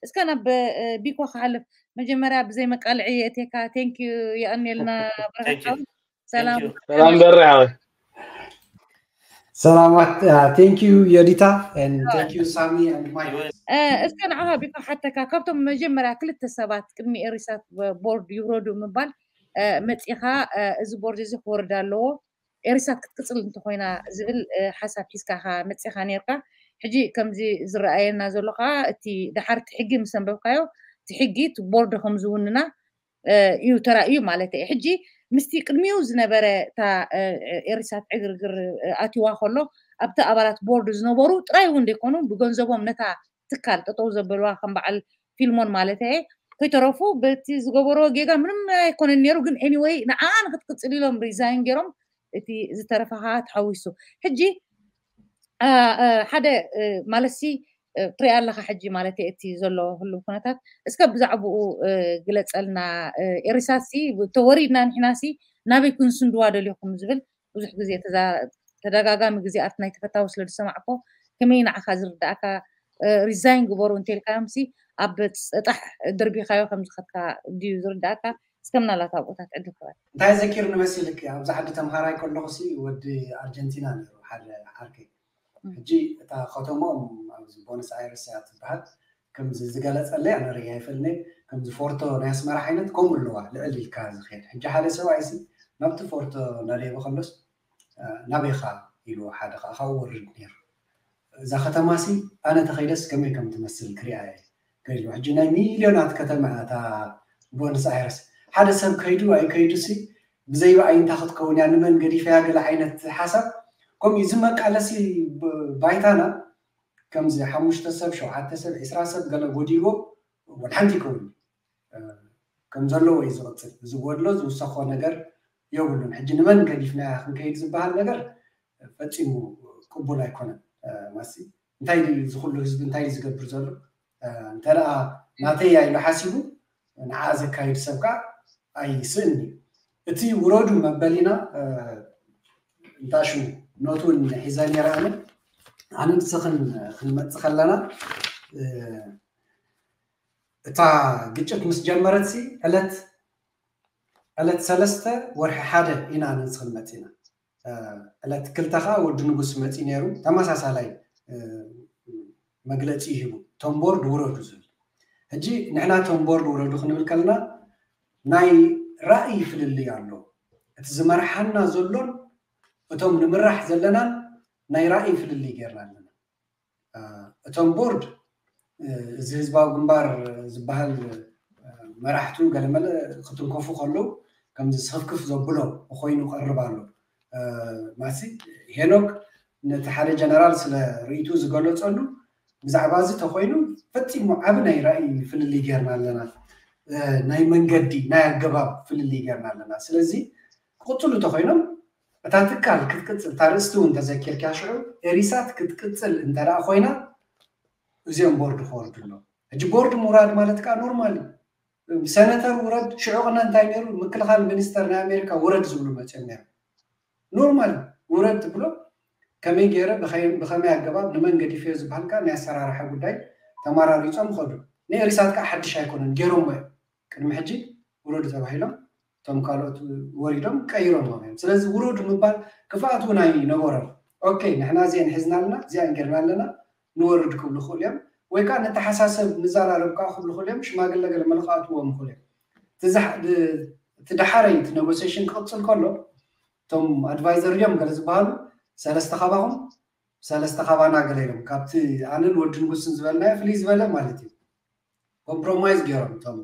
እስከ ናብ ቢኮ ክሓልፍ፣ መጀመርያ ብዘይ መቃልዒ የእቴካ። ቴንኪዩ፣ የቐንየልና። ብርሃን ሓወይ። ሰላም በሪ ሓወይ። ሰላማት። Thank you የዲታ and thank you ሳሚ and ማይ። እስከ ንዓኻ ቢኮ ሓተካ፣ ካብቶም መጀመርያ ክልተ ሰባት ቅድሚ ኤሪሳት ቦርድ ይውረዱ ምባል መፂኻ፣ እዚ ቦርድ እዚ ክወርድ ኣለዎ፣ ኤሪሳት ክትቅፅል እንተኮይና ዝብል ሓሳብ ሒዝካ መፂኻ ነርካ። ሕጂ ከምዚ ዝረኣየና ዘሎ ከዓ እቲ ደሓር እቲ ሕጊ ምስ ኣንበብካዮ፣ እቲ ሕጊ እቲ ቦርድ ከም ዝውንና እዩ ተራእዩ ማለት እዩ። ሕጂ ምስቲ ቅድሚኡ ዝነበረ እታ ኤሪሳት ዕግርግር ኣትዋ ከሎ፣ ኣብቲ ኣባላት ቦርድ ዝነበሩ ጥራይ እውን ዘይኮኑ፣ ብገንዘቦም ነታ ትካል ጠጠው ዘበልዋ ከም በዓል ፊልሞን ማለት እየ ከይተረፉ በቲ ዝገበርዎ ጌጋ ምንም ኣይኮነን ነይሩ። ግን anyway ንዓ ንክትቅፅል ኢሎም ሪዛይን ገይሮም እቲ ዝተረፈ ከዓ ተሓዊሱ። ሕጂ ሓደ ማለት ሲ ትሪኣ ኣለካ ሕጂ ማለት እቲ ዘሎ ህሉ ኩነታት እስከ ብዛዕባኡ ግለፀልና። ኤሪሳት ሲ ተወሪድና ንሕና ሲ ናበይ ክንስንድዋ ደልኹም ዝብል ብዙሕ ግዜ ተደጋጋሚ ግዜ ኣብቲ ናይ ተፈታዊ ስለ ዝሰማዕኮ ከመይ ንዓካ ዝርዳእካ ሪዛይን ግበሩ እንተልካዮም ሲ ኣብ ፀጣሕ ደርቢካዮ ከም ዝከድካ ድዩ ዝርዳእካ? እስከ ምናልባት ኣብኡታት ዕድል ክበል። እንታይ ዘኪር ንመሲልክ ኣብዚ ዓዲ ተምሃራይ ከለኹ ሲ ወዲ ኣርጀንቲና ነይሩ ሓደ ዓርከይ። ሕጂ እታ ከተሞኦም ኣብዚ ቦነስ ኣይረስ እያ ትበሃል። ከምዚ ዝገለፀለይ ኣነ ርእየ ኣይፈልኒ። ከምዚ ፎርቶ ናይ ኣስመራ ዓይነት ከምኡ ኣለዋ ልዕል ኢልካ ዝኸድ። ሕጂ ሓደ ሰብኣይ ሲ ናብቲ ፎርቶ እናደየበ ከሎስ ናበይኻ ኢሉ ሓደ ከዓ ካብኡ ወርድ ነይሩ። እዛ ከተማ ሲ ኣነ ተኸይደስ ከመይ ከም ትመስል ክሪኣ እየ ከይሉ። ሕጂ ናይ ሚልዮናት ከተማ እያ እታ ቦነስ ኣይረስ። ሓደ ሰብ ከይዱ ኣይከይዱ ሲ ብዘይ ብኣይንታ ክትከውን እያ፣ ንመን ገዲፈያ ገለ ዓይነት ሓሳብ ከምኡ እዩ። እዚ መቃለሲ ባይታና ከምዚ ሓሙሽተ ሰብ፣ ሸውዓተ ሰብ፣ ዒስራ ሰብ ገለ ጎዲልዎ ወላ ሓንቲ ይከውን ከም ዘለዎ እዩ ዝቕፅል። ዝጎድሎ ዝውሰኾ ነገር የብሉን። ሕጂ ንመን ገዲፍናያ ክንከይድ ዝበሃል ነገር ፈፂሙ ቅቡል ኣይኮነን። ማሲ እንታይ ድዩ እዚ ኩሉ ህዝቢ እንታይ ድዩ ዝገብር ዘሎ? እንተ ደኣ ናተይ እያ ኢሉ ሓሲቡ ንዓ ዘካይድ ሰብ ከዓ ኣይስእን እዩ። እቲ ውረዱ መበሊና እንታሹ ኖት እውን ሒዘ ነይረ ኣነ ኣነ ንስኽን ክንመፅእ ከለና እታ ግጭት ምስ ጀመረት ሲ ዕለት ዕለት ሰለስተ ወርሒ ሓደ ኢና ኣነ ንስኽን መፂና። ዕለት ክልተ ከዓ ወዲ ንጉስ መፂ ነይሩ ተመሳሳላይ መግለፂ ይህቡ። ቶም ቦርድ ውረዱ ዝብል ሕጂ ንሕና ቶም ቦርድ ውረዱ ክንብል ከለና ናይ ራእይ ፍልልይ ኣሎ። እቲ ዝመርሓና ዘሎን እቶም ንምራሕ ዘለናን ናይ ራእይ ፍልልይ ጌርና ኣለና። እቶም ቦርድ እዚ ህዝባዊ ግንባር ዝበሃል መራሕቱ ገለመለ ክትንከፉ ከለዉ ከምዚ ስኽፍክፍ ዘብሎ ኮይኑ ቀርብ ኣሎ። ማሲ ሄኖክ ነቲ ሓደ ጀነራል ስለ ርእይቱ ዝገለጸሉ ብዛዕባ እዚ ተኮይኑ ፈጺሙ ዓቢ ናይ ራእይ ፍልልይ ጌርና ኣለና። ናይ መንገዲ ናይ ኣገባብ ፍልልይ ጌርና ኣለና። ስለዚ ክቕጽሉ እንተኮይኖም እታ ትካል ክትቅጽል እታ ርእስቲ እውን ተዘኪርካ ሽዑ ኤሪሳት ክትቅጽል እንተ ደኣ ኮይና እዚኦም ቦርድ ክወርዱ ኣለዎም። ሕጂ ቦርድ ምውራድ ማለት ከዓ ኖርማል እዩ። ሰነተር ውረድ ሽዑ ቅነ እንታይ ነይሩ ምክልኻል ሚኒስተር ናይ ኣሜሪካ ውረድ ዝብሉ መፅኦም ነይሩ። ኖርማል ውረድ ትብሎ ከመይ ገይረ ብኸመይ ኣገባብ ንመን ገዲፈዮ ዝበሃል ከዓ ናይ ኣሰራርሓ ጉዳይ ተመራሪፆም ኸዱ። ንኤሪሳት ከዓ ሓድሽ ኣይኮነን ገይሮሞ እዮም። ቅድሚ ሕጂ ውረዱ ተባሂሎም እቶም ካልኦት ወሪዶም ቀይሮም እዮም። ስለዚ ውረዱ ምባል ክፍኣት እውን ኣይነበሮም። ኦኬ ንሕና እዚአን ሒዝና ኣለና እዚአን ጌርና ኣለና ንወርድ ክብሉ ይኽእሉ እዮም። ወይ ከዓ ንተሓሳሰብ ንዘራረብ ከዓ ክብሉ ይኽእሉ እዮም። ሽማግለ ገለ መለ ክኣትዎም ይኽእሉ እዮም። እቲ ደሓረይ እቲ ኔጎሲሽን ክቕፅል ከሎ እቶም ኣድቫይዘር እዮም ገለ ዝበሃሉ ሰለስተ ካባኹም ሰለስተ ካባና ገለ ኢሎም ካብቲ ኣነን ወዲ ንጉስን ዝበልናዮ ፍልይ ዝበለ ማለት እዩ። ኮምፕሮማይዝ ገይሮም እቶም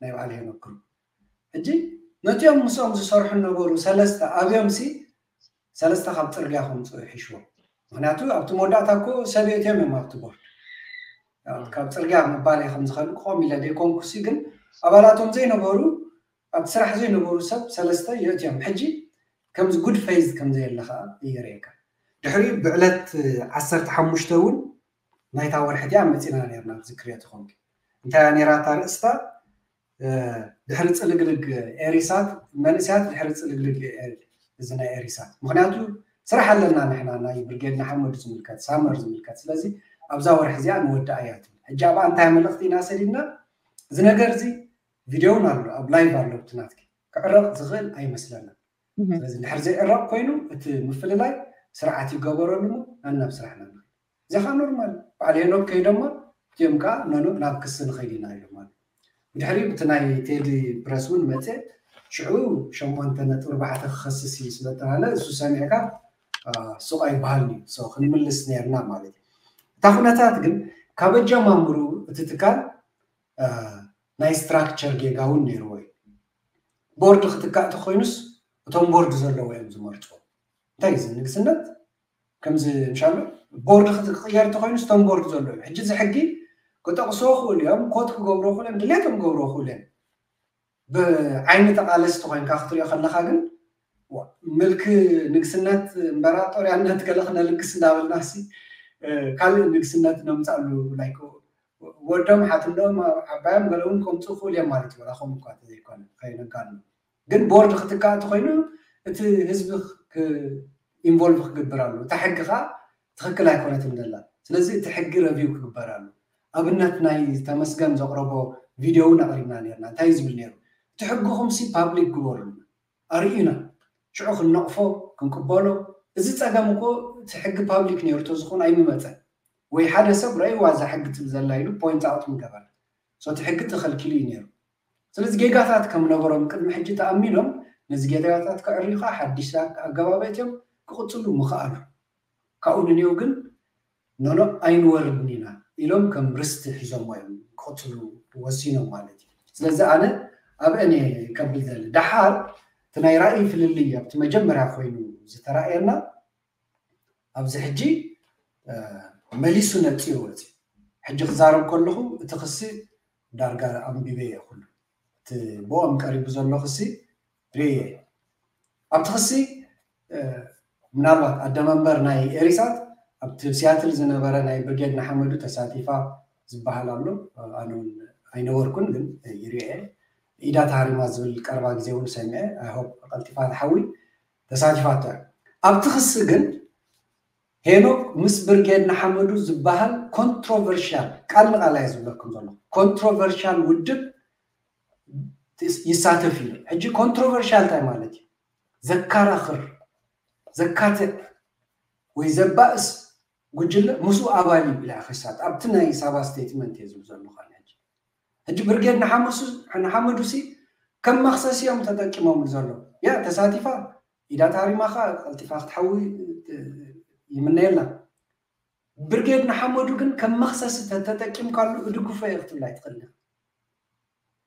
ናይ በዓል ሄኖክ ግሩፕ። ሕጂ ነቲኦም ምስኦም ዝሰርሑ ነበሩ ሰለስተ ኣብዮም ሲ ሰለስተ ካብ ፅርግያ ከምፅኡ ይሕሽዎም። ምክንያቱ ኣብቲ መወዳእታ እኮ ሰብ የእትዮም እዮም ኣብቲ ቦርድ። ካብ ፅርግያ ምባል ከም ዝኸዱ ክቆም ኢለ ዘይኮንኩ ሲ ግን ኣባላቶም ዘይነበሩ ኣብቲ ስራሕ ዘይነበሩ ሰብ ሰለስተ የእትዮም። ሕጂ ከምዚ ጉድ ፌዝ ከም ዘየለ ከዓ የርእየካ። ድሕሪኡ ብዕለት ዓሰርተ ሓሙሽተ እውን ናይታ ወርሒ እቲኣ መፂና ነርና ክዝክርዮ ተኾንኪ እንታይ እያ ነይራ እታ ርእስታ ድሕሪ ፅልግልግ ኤሪሳት መንእስያት ድሕሪ ፅልግልግ እዚ ናይ ኤሪሳት ምክንያቱ ስራሕ ኣለና ንሕና ናይ ብርጌድ ንሓመዱ ዝምልከት ሳመር ዝምልከት ስለዚ ኣብዛ ወርሒ እዚኣ ንወዳእ እያ ትብል። ሕጂ ኣብኣ እንታይ መልእኽቲ ኢና ሰዲድና? እዚ ነገር እዚ ቪድዮ እውን ኣሎ፣ ኣብ ላይቭ ኣሎ፣ እቲ ናትኪ ክዕረቕ ዝኽእል ኣይመስለናን። ስለዚ እንድሕር ዘይዕረቕ ኮይኑ እቲ ምፍልላይ ስርዓት ይገበረሉ እሞ ናናብ ስራሕና ንኸይድ። እዚኻ ኖርማል በዓል ሄኖክ ከይዶማ እቲኦም ከዓ ነኖ ናብ ክሲ ንኸይድ ኢና ኢሎም ማለት። ብድሕሪ እቲ ናይ ቴዲ ፕረስ እውን መፅእ ሽዑ ሸሞንተ ነጥቢ ኣርባዕተ ክኸስስ እዩ ስለተባለ እሱ ሰሚዕካ ሱቕ ኣይበሃልን እዩ። ክንምልስ ነርና ማለት እዩ። እታ ኩነታት ግን ካብ ኣጀማምሩ እቲ ትካል ናይ ስትራክቸር ጌጋ እውን ነይርዎ እዩ። ቦርድ ክትካእ ተኮይኑስ እቶም ቦርድ ዘለዎ እዮም ዝመርፅዎ። እንታይ እዩ ንግስነት ከምዚ እንሻሎ ቦርድ ክትቅየር ተኮይኑስ እቶም ቦርድ ዘለዎ እዮም። ሕጂ እዚ ሕጊ ክጠቅስዎ ክእሉ እዮም፣ ኮት ክገብርዎ ክእሉ እዮም፣ ድሌቶም ክገብርዎ ክእሉ እዮም። ብዓይኒ ተቃለስቲ ኮይንካ ክትሪኦ ከለካ ግን ምልክ ንግስነት እምበራጦርያነት ገለ ክነልግስ እንዳበልና ሲ ካልእ ንግስነት ነምፃሉ ላይክ ወዶም ሓትንዶም ዓባዮም ገለ እውን ከምፅኡ ክእሉ እዮም ማለት እዩ። ወላ ከምኡ እኳ ተዘይኮነ ከይነጋኑ ግን ቦርድ ክትካእ ተኮይኑ እቲ ህዝቢ ኢንቮልቭ ክግብር ኣሎ። እታ ሕጊ ከዓ ትክክል ኣይኮነትን ዘላ። ስለዚ እቲ ሕጊ ረቪው ክግበር ኣሎ። ኣብነት ናይ ተመስገን ዘቅረቦ ቪድዮ እውን ኣቅሪብና ነርና። እንታይ ዝብል ነይሩ? እቲ ሕግኹም ሲ ፓብሊክ ግበሩልና፣ ኣርእዩና፣ ሽዑ ክንነቅፎ ክንቅበሎ። እዚ ፀገም እኮ እቲ ሕጊ ፓብሊክ ነይሩ ተዝኾን ኣይምመፀን። ወይ ሓደ ሰብ ረእይዋ እዛ ሕጊ ትብል ዘላ ኢሉ ፖይንት ኣውት ምገበር። እቲ ሕጊ ተኸልኪሉ እዩ ነይሩ። ስለዚ ጌጋታት ከም ነበሮም ቅድሚ ሕጂ ተኣሚኖም ነዚ ጌጋታት ከዕርዩ ከዓ ሓዲሽ ኣገባብ ኣእትዮም ክቕፅሉ ምኽኣሉ። ካብኡ ንንየው ግን ኖኖ ኣይንወርድን ኢና ኢሎም ከም ርስቲ ሒዞሞ እዮም ክቕፅሉ ወሲኖም ማለት እዩ። ስለዚ ኣነ ኣብ እኔ ከብል ዘለ ደሓር እቲ ናይ ራእይ ፍልልይ ኣብቲ መጀመርያ ኮይኑ ዝተራእየና ኣብዚ ሕጂ መሊሱ ነፂኡ ወፂ ሕጂ ክዛረብ ከለኹ እቲ ክሲ ዳርጋ ኣንቢበ እየ ኩሉ እቲ ብኦም ቀሪቡ ዘሎ ክሲ ርእየ ኣብቲ ክሲ ምናልባት ኣደመንበር ናይ ኤሪሳት ኣብቲ ሲያትል ዝነበረ ናይ ብርጌድ ንሓመዱ ተሳቲፋ ዝበሃል ኣሎ። ኣነ እውን ኣይነበርኩን ግን ይርኤ ኢዳ ተሃሪማ ዝብል ቀረባ ግዜ እውን ሰሚዐ። ኣይሆፕ ቀልጢፋ ትሓዊ ተሳቲፋቶ እያ። ኣብቲ ክሲ ግን ሄኖክ ምስ ብርጌድ ንሓመዱ ዝበሃል ኮንትሮቨርሽያል ቃል ንቃል እየ ዝብለኩም ዘሎ ኮንትሮቨርሽያል ውድብ ይሳተፍ እዩ። ሕጂ ኮንትሮቨርሽያል እንታይ ማለት እዩ? ዘካራኽር፣ ዘካትዕ ወይ ዘባእስ ጉጅለ ምስኡ ኣባል እዩ ኢላ ክሳት ኣብቲ ናይ ሳባ ስቴትመንት እየ ዝብል ዘለኹ። ሕጂ ብርጌድ ንሓመዱ ሲ ከም መኽሰስ እዮም ተጠቂሞምሉ ዘለዉ። ያ ተሳቲፋ ኢዳ ታሪማ ከዓ ቀልጢፋ ክትሓዊ ይምነየላ። ብርጌድ ንሓመዱ ግን ከም መኽሰስ ተተጠቂምካሉ እድግፎ እየ ክትብል ኣይትኽእል።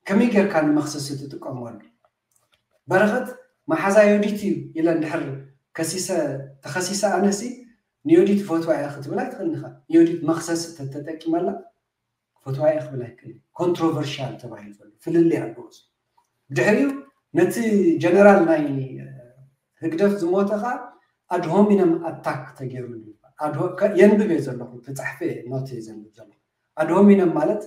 ከመይ ጌርካ ንመኽሰሲ ትጥቀመሉ? በረኸት መሓዛ ዮዲት እዩ ኢለ እንድሕር ከሲሰ ተኸሲሰ ኣነሲ ንዮዲት ፈትዋ እየ ክትብል ኣይትኽእል ኢኻ። ዮዲት መኽሰሲ ተተጠቂመላ ፈትዋ እየ ክብል ኣይክእል። ኮንትሮቨርሻል ተባሂሉ ዘሎ ፍልልይ ኣለዎ። ድሕሪኡ ነቲ ጀነራል ናይ ህግደፍ ዝሞተ ከዓ ኣድሆሚነም ኣታክ ተገይሩሉ የንብብ እየ ዘለኹ ተፃሕፈ ኖት እየ ዘንብብ ዘለኹ። ኣድሆሚነም ማለት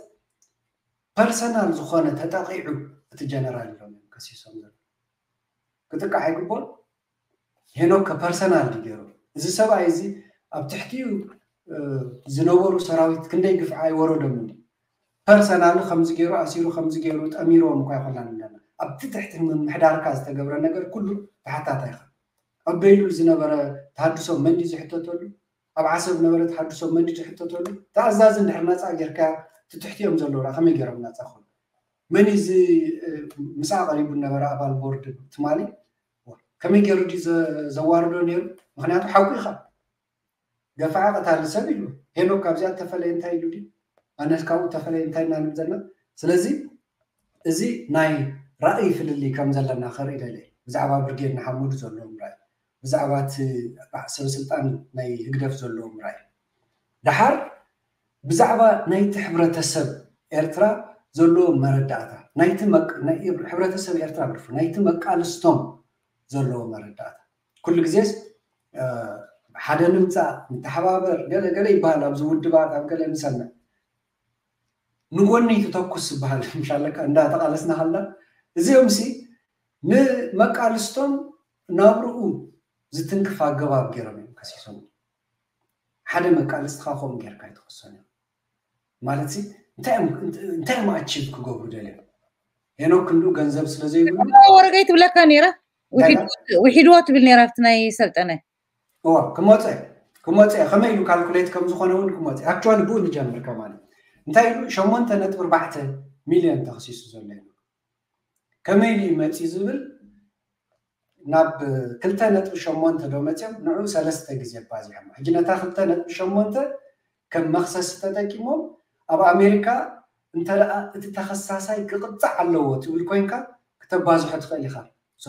ፐርሰናል ዝኾነ ተጠቂዑ እቲ ጀነራል ኢሎም እዮም ከሲሶም ዘሎ። ክጥቃዕ ኣይግቦን። ሄኖክ ከፐርሰናል ድዩ ገይሩ? እዚ ሰብኣይ እዚ ኣብ ትሕቲኡ ዝነበሩ ሰራዊት ክንደይ ግፍዒ ኣይወረዶምን። ፐርሰናል ከምዚ ገይሩ ኣሲሩ ከምዚ ገይሩ ጠሚርዎም እኳ ይኮና ኣለና ኣብቲ ትሕቲ ምምሕዳርካ ዝተገብረ ነገር ኩሉ ተሓታታይ ኢኻ። ኣብ በይሉል ዝነበረ ተሃድሶ መን ድዩ ዝሕተተሉ? ኣብ ዓሰብ ነበረ ተሃድሶ መን ድዩ ዝሕተተሉ? ተኣዛዚ እንድሕር ነፃ ጌርካ ትትሕትዮም ዘለዉ ከመይ ገይሮም ነፃ ኮኑ? መን እዚ ምሳ ቀሪቡ ነበረ ኣባል ቦርድ ትማሊ ከመይ ገይሩ ድዩ ዘዋርዶ ነይሩ? ምክንያቱ ሓቁ ኢኻ። ገፋዓ ቀታሊ ሰብ ኢሉ ሄኖክ ካብዚኣ ተፈለየ እንታይ ኢሉ ድዩ? ኣነስ ካብኡ ተፈለየ እንታይ ኢና ንብል ዘለና? ስለዚ እዚ ናይ ራእይ ፍልልይ ከም ዘለና ከርኢ ደለ ብዛዕባ ብርጌድ ንሓመዱ ዘለዎም ራእይ ብዛዕባ እቲ ሰበስልጣን ናይ ህግደፍ ዘለዎም ራእይ ደሓር ብዛዕባ ናይቲ ሕብረተሰብ ኤርትራ ዘለዎ መረዳእታ ናይቲ ሕብረተሰብ ኤርትራ ብርፉ ናይቲ መቃልስቶም ዘለዎ መረዳእታ ኩሉ ግዜስ ሓደ ንምፃእ ንተሓባበር ገለ ገለ ይበሃል ኣብዚ ውድባት ኣብ ገለ ንሰምዕ ንጎኒ ትተኩስ ዝበሃል ምሻለካ እንዳተቃለስና ከላ እዚኦም ሲ ንመቃልስቶም ናብርኡ ዝትንክፍ ኣገባብ ገይሮም እዮም ከሲሶም ሓደ መቃልስትኻ ከምኡ ጌርካ ኣይትኸሶን እዮም ማለት ሲ እንታይ እዮም እንታይ እዮም ኣቺቭ ክገብሩ ደልዮም? ሄኖክ ክንዱ ገንዘብ ስለ ዘይብሉ ወረገይ ትብለካ ነይራ። ውሒድዎ ትብል ነይራ ኣብቲ ናይ ሰልጠነ እዋ ክመፀ ክመፀ ከመይ ኢሉ ካልኩሌት ከም ዝኾነ እውን ክመፀ ኣክቹዋሊ ብኡ ንጀምር ከማን እንታይ ኢሉ ሸሞንተ ነጥቢ ኣርባዕተ ሚልዮን ተኸሲሱ ዘሎ ከመይ ኢሉ ይመፅእ ዝብል ናብ ክልተ ነጥቢ ሸሞንተ ዶ መፅኦም ንዑ ሰለስተ ግዜ ኣባዚሖም ሕጂ ነታ ክልተ ነጥቢ ሸሞንተ ከም መክሰስ ተጠቂሞም ኣብ ኣሜሪካ እንተ እቲ ተኸሳሳይ ክቕፃዕ ኣለዎ ትብል ኮይንካ ክተባዝሖ ትኽእል ኢኻ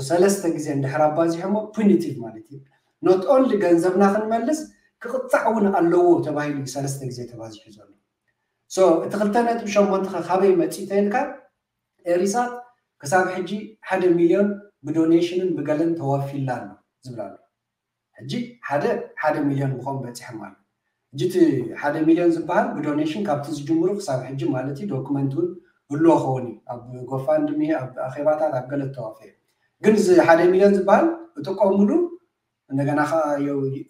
ሰለስተ ግዜ እንድሕር ኣባዚሖሞ ፒኒቲቭ ማለት እዩ ኖት ኦንሊ ገንዘብና ክንመልስ ክቕፃዕ እውን ኣለዎ ተባሂሉ እዩ ሰለስተ ግዜ ተባዚሑ ዘሎ እቲ ክልተ ነጥቢ ሸሞንተ ካበይ መፂእ ተይልካ ኤሪሳት ክሳብ ሕጂ ሓደ ሚልዮን ብዶኔሽንን ብገለን ተዋፊላ ኣሎ ዝብል ኣሎ ሕጂ ሓደ ሓደ ሚልዮን ምኾን በፂሖም ኣሎ ሕጂ እቲ ሓደ ሚልዮን ዝበሃል ብዶኔሽን ካብቲ ዝጅምሩ ክሳብ ሕጂ ማለት እዩ ዶክመንት እውን ህልዎ ኸውን እዩ ኣብ ጎፋንድሚ ኣብ ኣኼባታት ኣብ ገለ ተዋፈ ግን እዚ ሓደ ሚልዮን ዝበሃል እጥቀሙሉ እንደገና ከዓ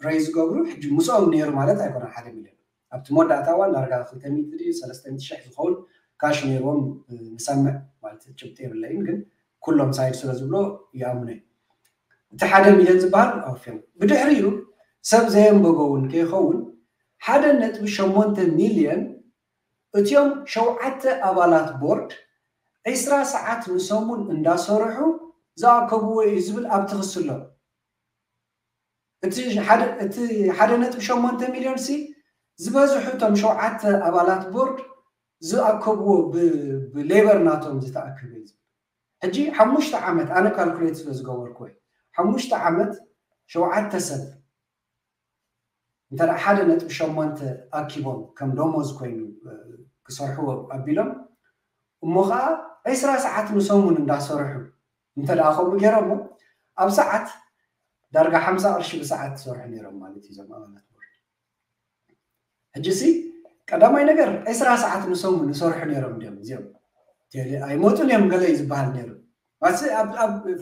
ረይ ዝገብሩ ሕጂ ምስኦም ነይሩ ማለት ኣይኮነ ሓደ ሚልዮን ኣብቲ መወዳእታ እዋን ዳርጋ ክልተ ሚእቲ ድዩ ሰለስተ ሚእቲ ሽሕ ዝኸውን ካሽ ነይርዎም ንሰምዕ ማለት ጭብጢ የብለይን ግን ኩሎም ሳይድ ስለ ዝብሎ ይኣምኖ እዩ እቲ ሓደ ሚልዮን ዝበሃል ኣውፊሩ ብድሕሪኡ ሰብ ዘየንበጎ እውን ከይኸውን ሓደ ነጥቢ ሸሞንተ ሚልዮን እቲኦም ሸውዓተ ኣባላት ቦርድ ዒስራ ሰዓት ንሰሙን እንዳሰርሑ ዝኣከብዎ እዩ ዝብል ኣብቲ ክስሎ እቲ ሓደ ነጥቢ ሸሞንተ ሚልዮን ሲ ዝበዝሑ እቶም ሸውዓተ ኣባላት ቦርድ ዝኣከብዎ ብሌበር ናቶም ዝተኣከበ እዩ ሕጂ ሓሙሽተ ዓመት ኣነ ካልኩሌት ስለ ዝገበርኩ ወይ ሓሙሽተ ዓመት ሸውዓተ ሰብ እንተ ሓደ ነጥቢ ሸሞንተ ኣኪቦም ከም ደሞዝ ኮይኑ ክሰርሕዎ ኣቢሎም እሞ ከዓ ዕስራ ሰዓት ንሰሙን እንዳሰርሑ እንተ ከምኡ ገይሮሞ ኣብ ሰዓት ዳርጋ ሓምሳ ቅርሺ ብሰዓት ዝሰርሑ ነይሮም ማለት እዩ ዞም ኣባላት ቦርድ ሕጂ ሲ ቀዳማይ ነገር ዕስራ ሰዓት ንሰሙን ዝሰርሑ ነይሮም ድዮም እዚኦም ኣይመጡን እዮም ገለ እዩ ዝበሃል ነይሩ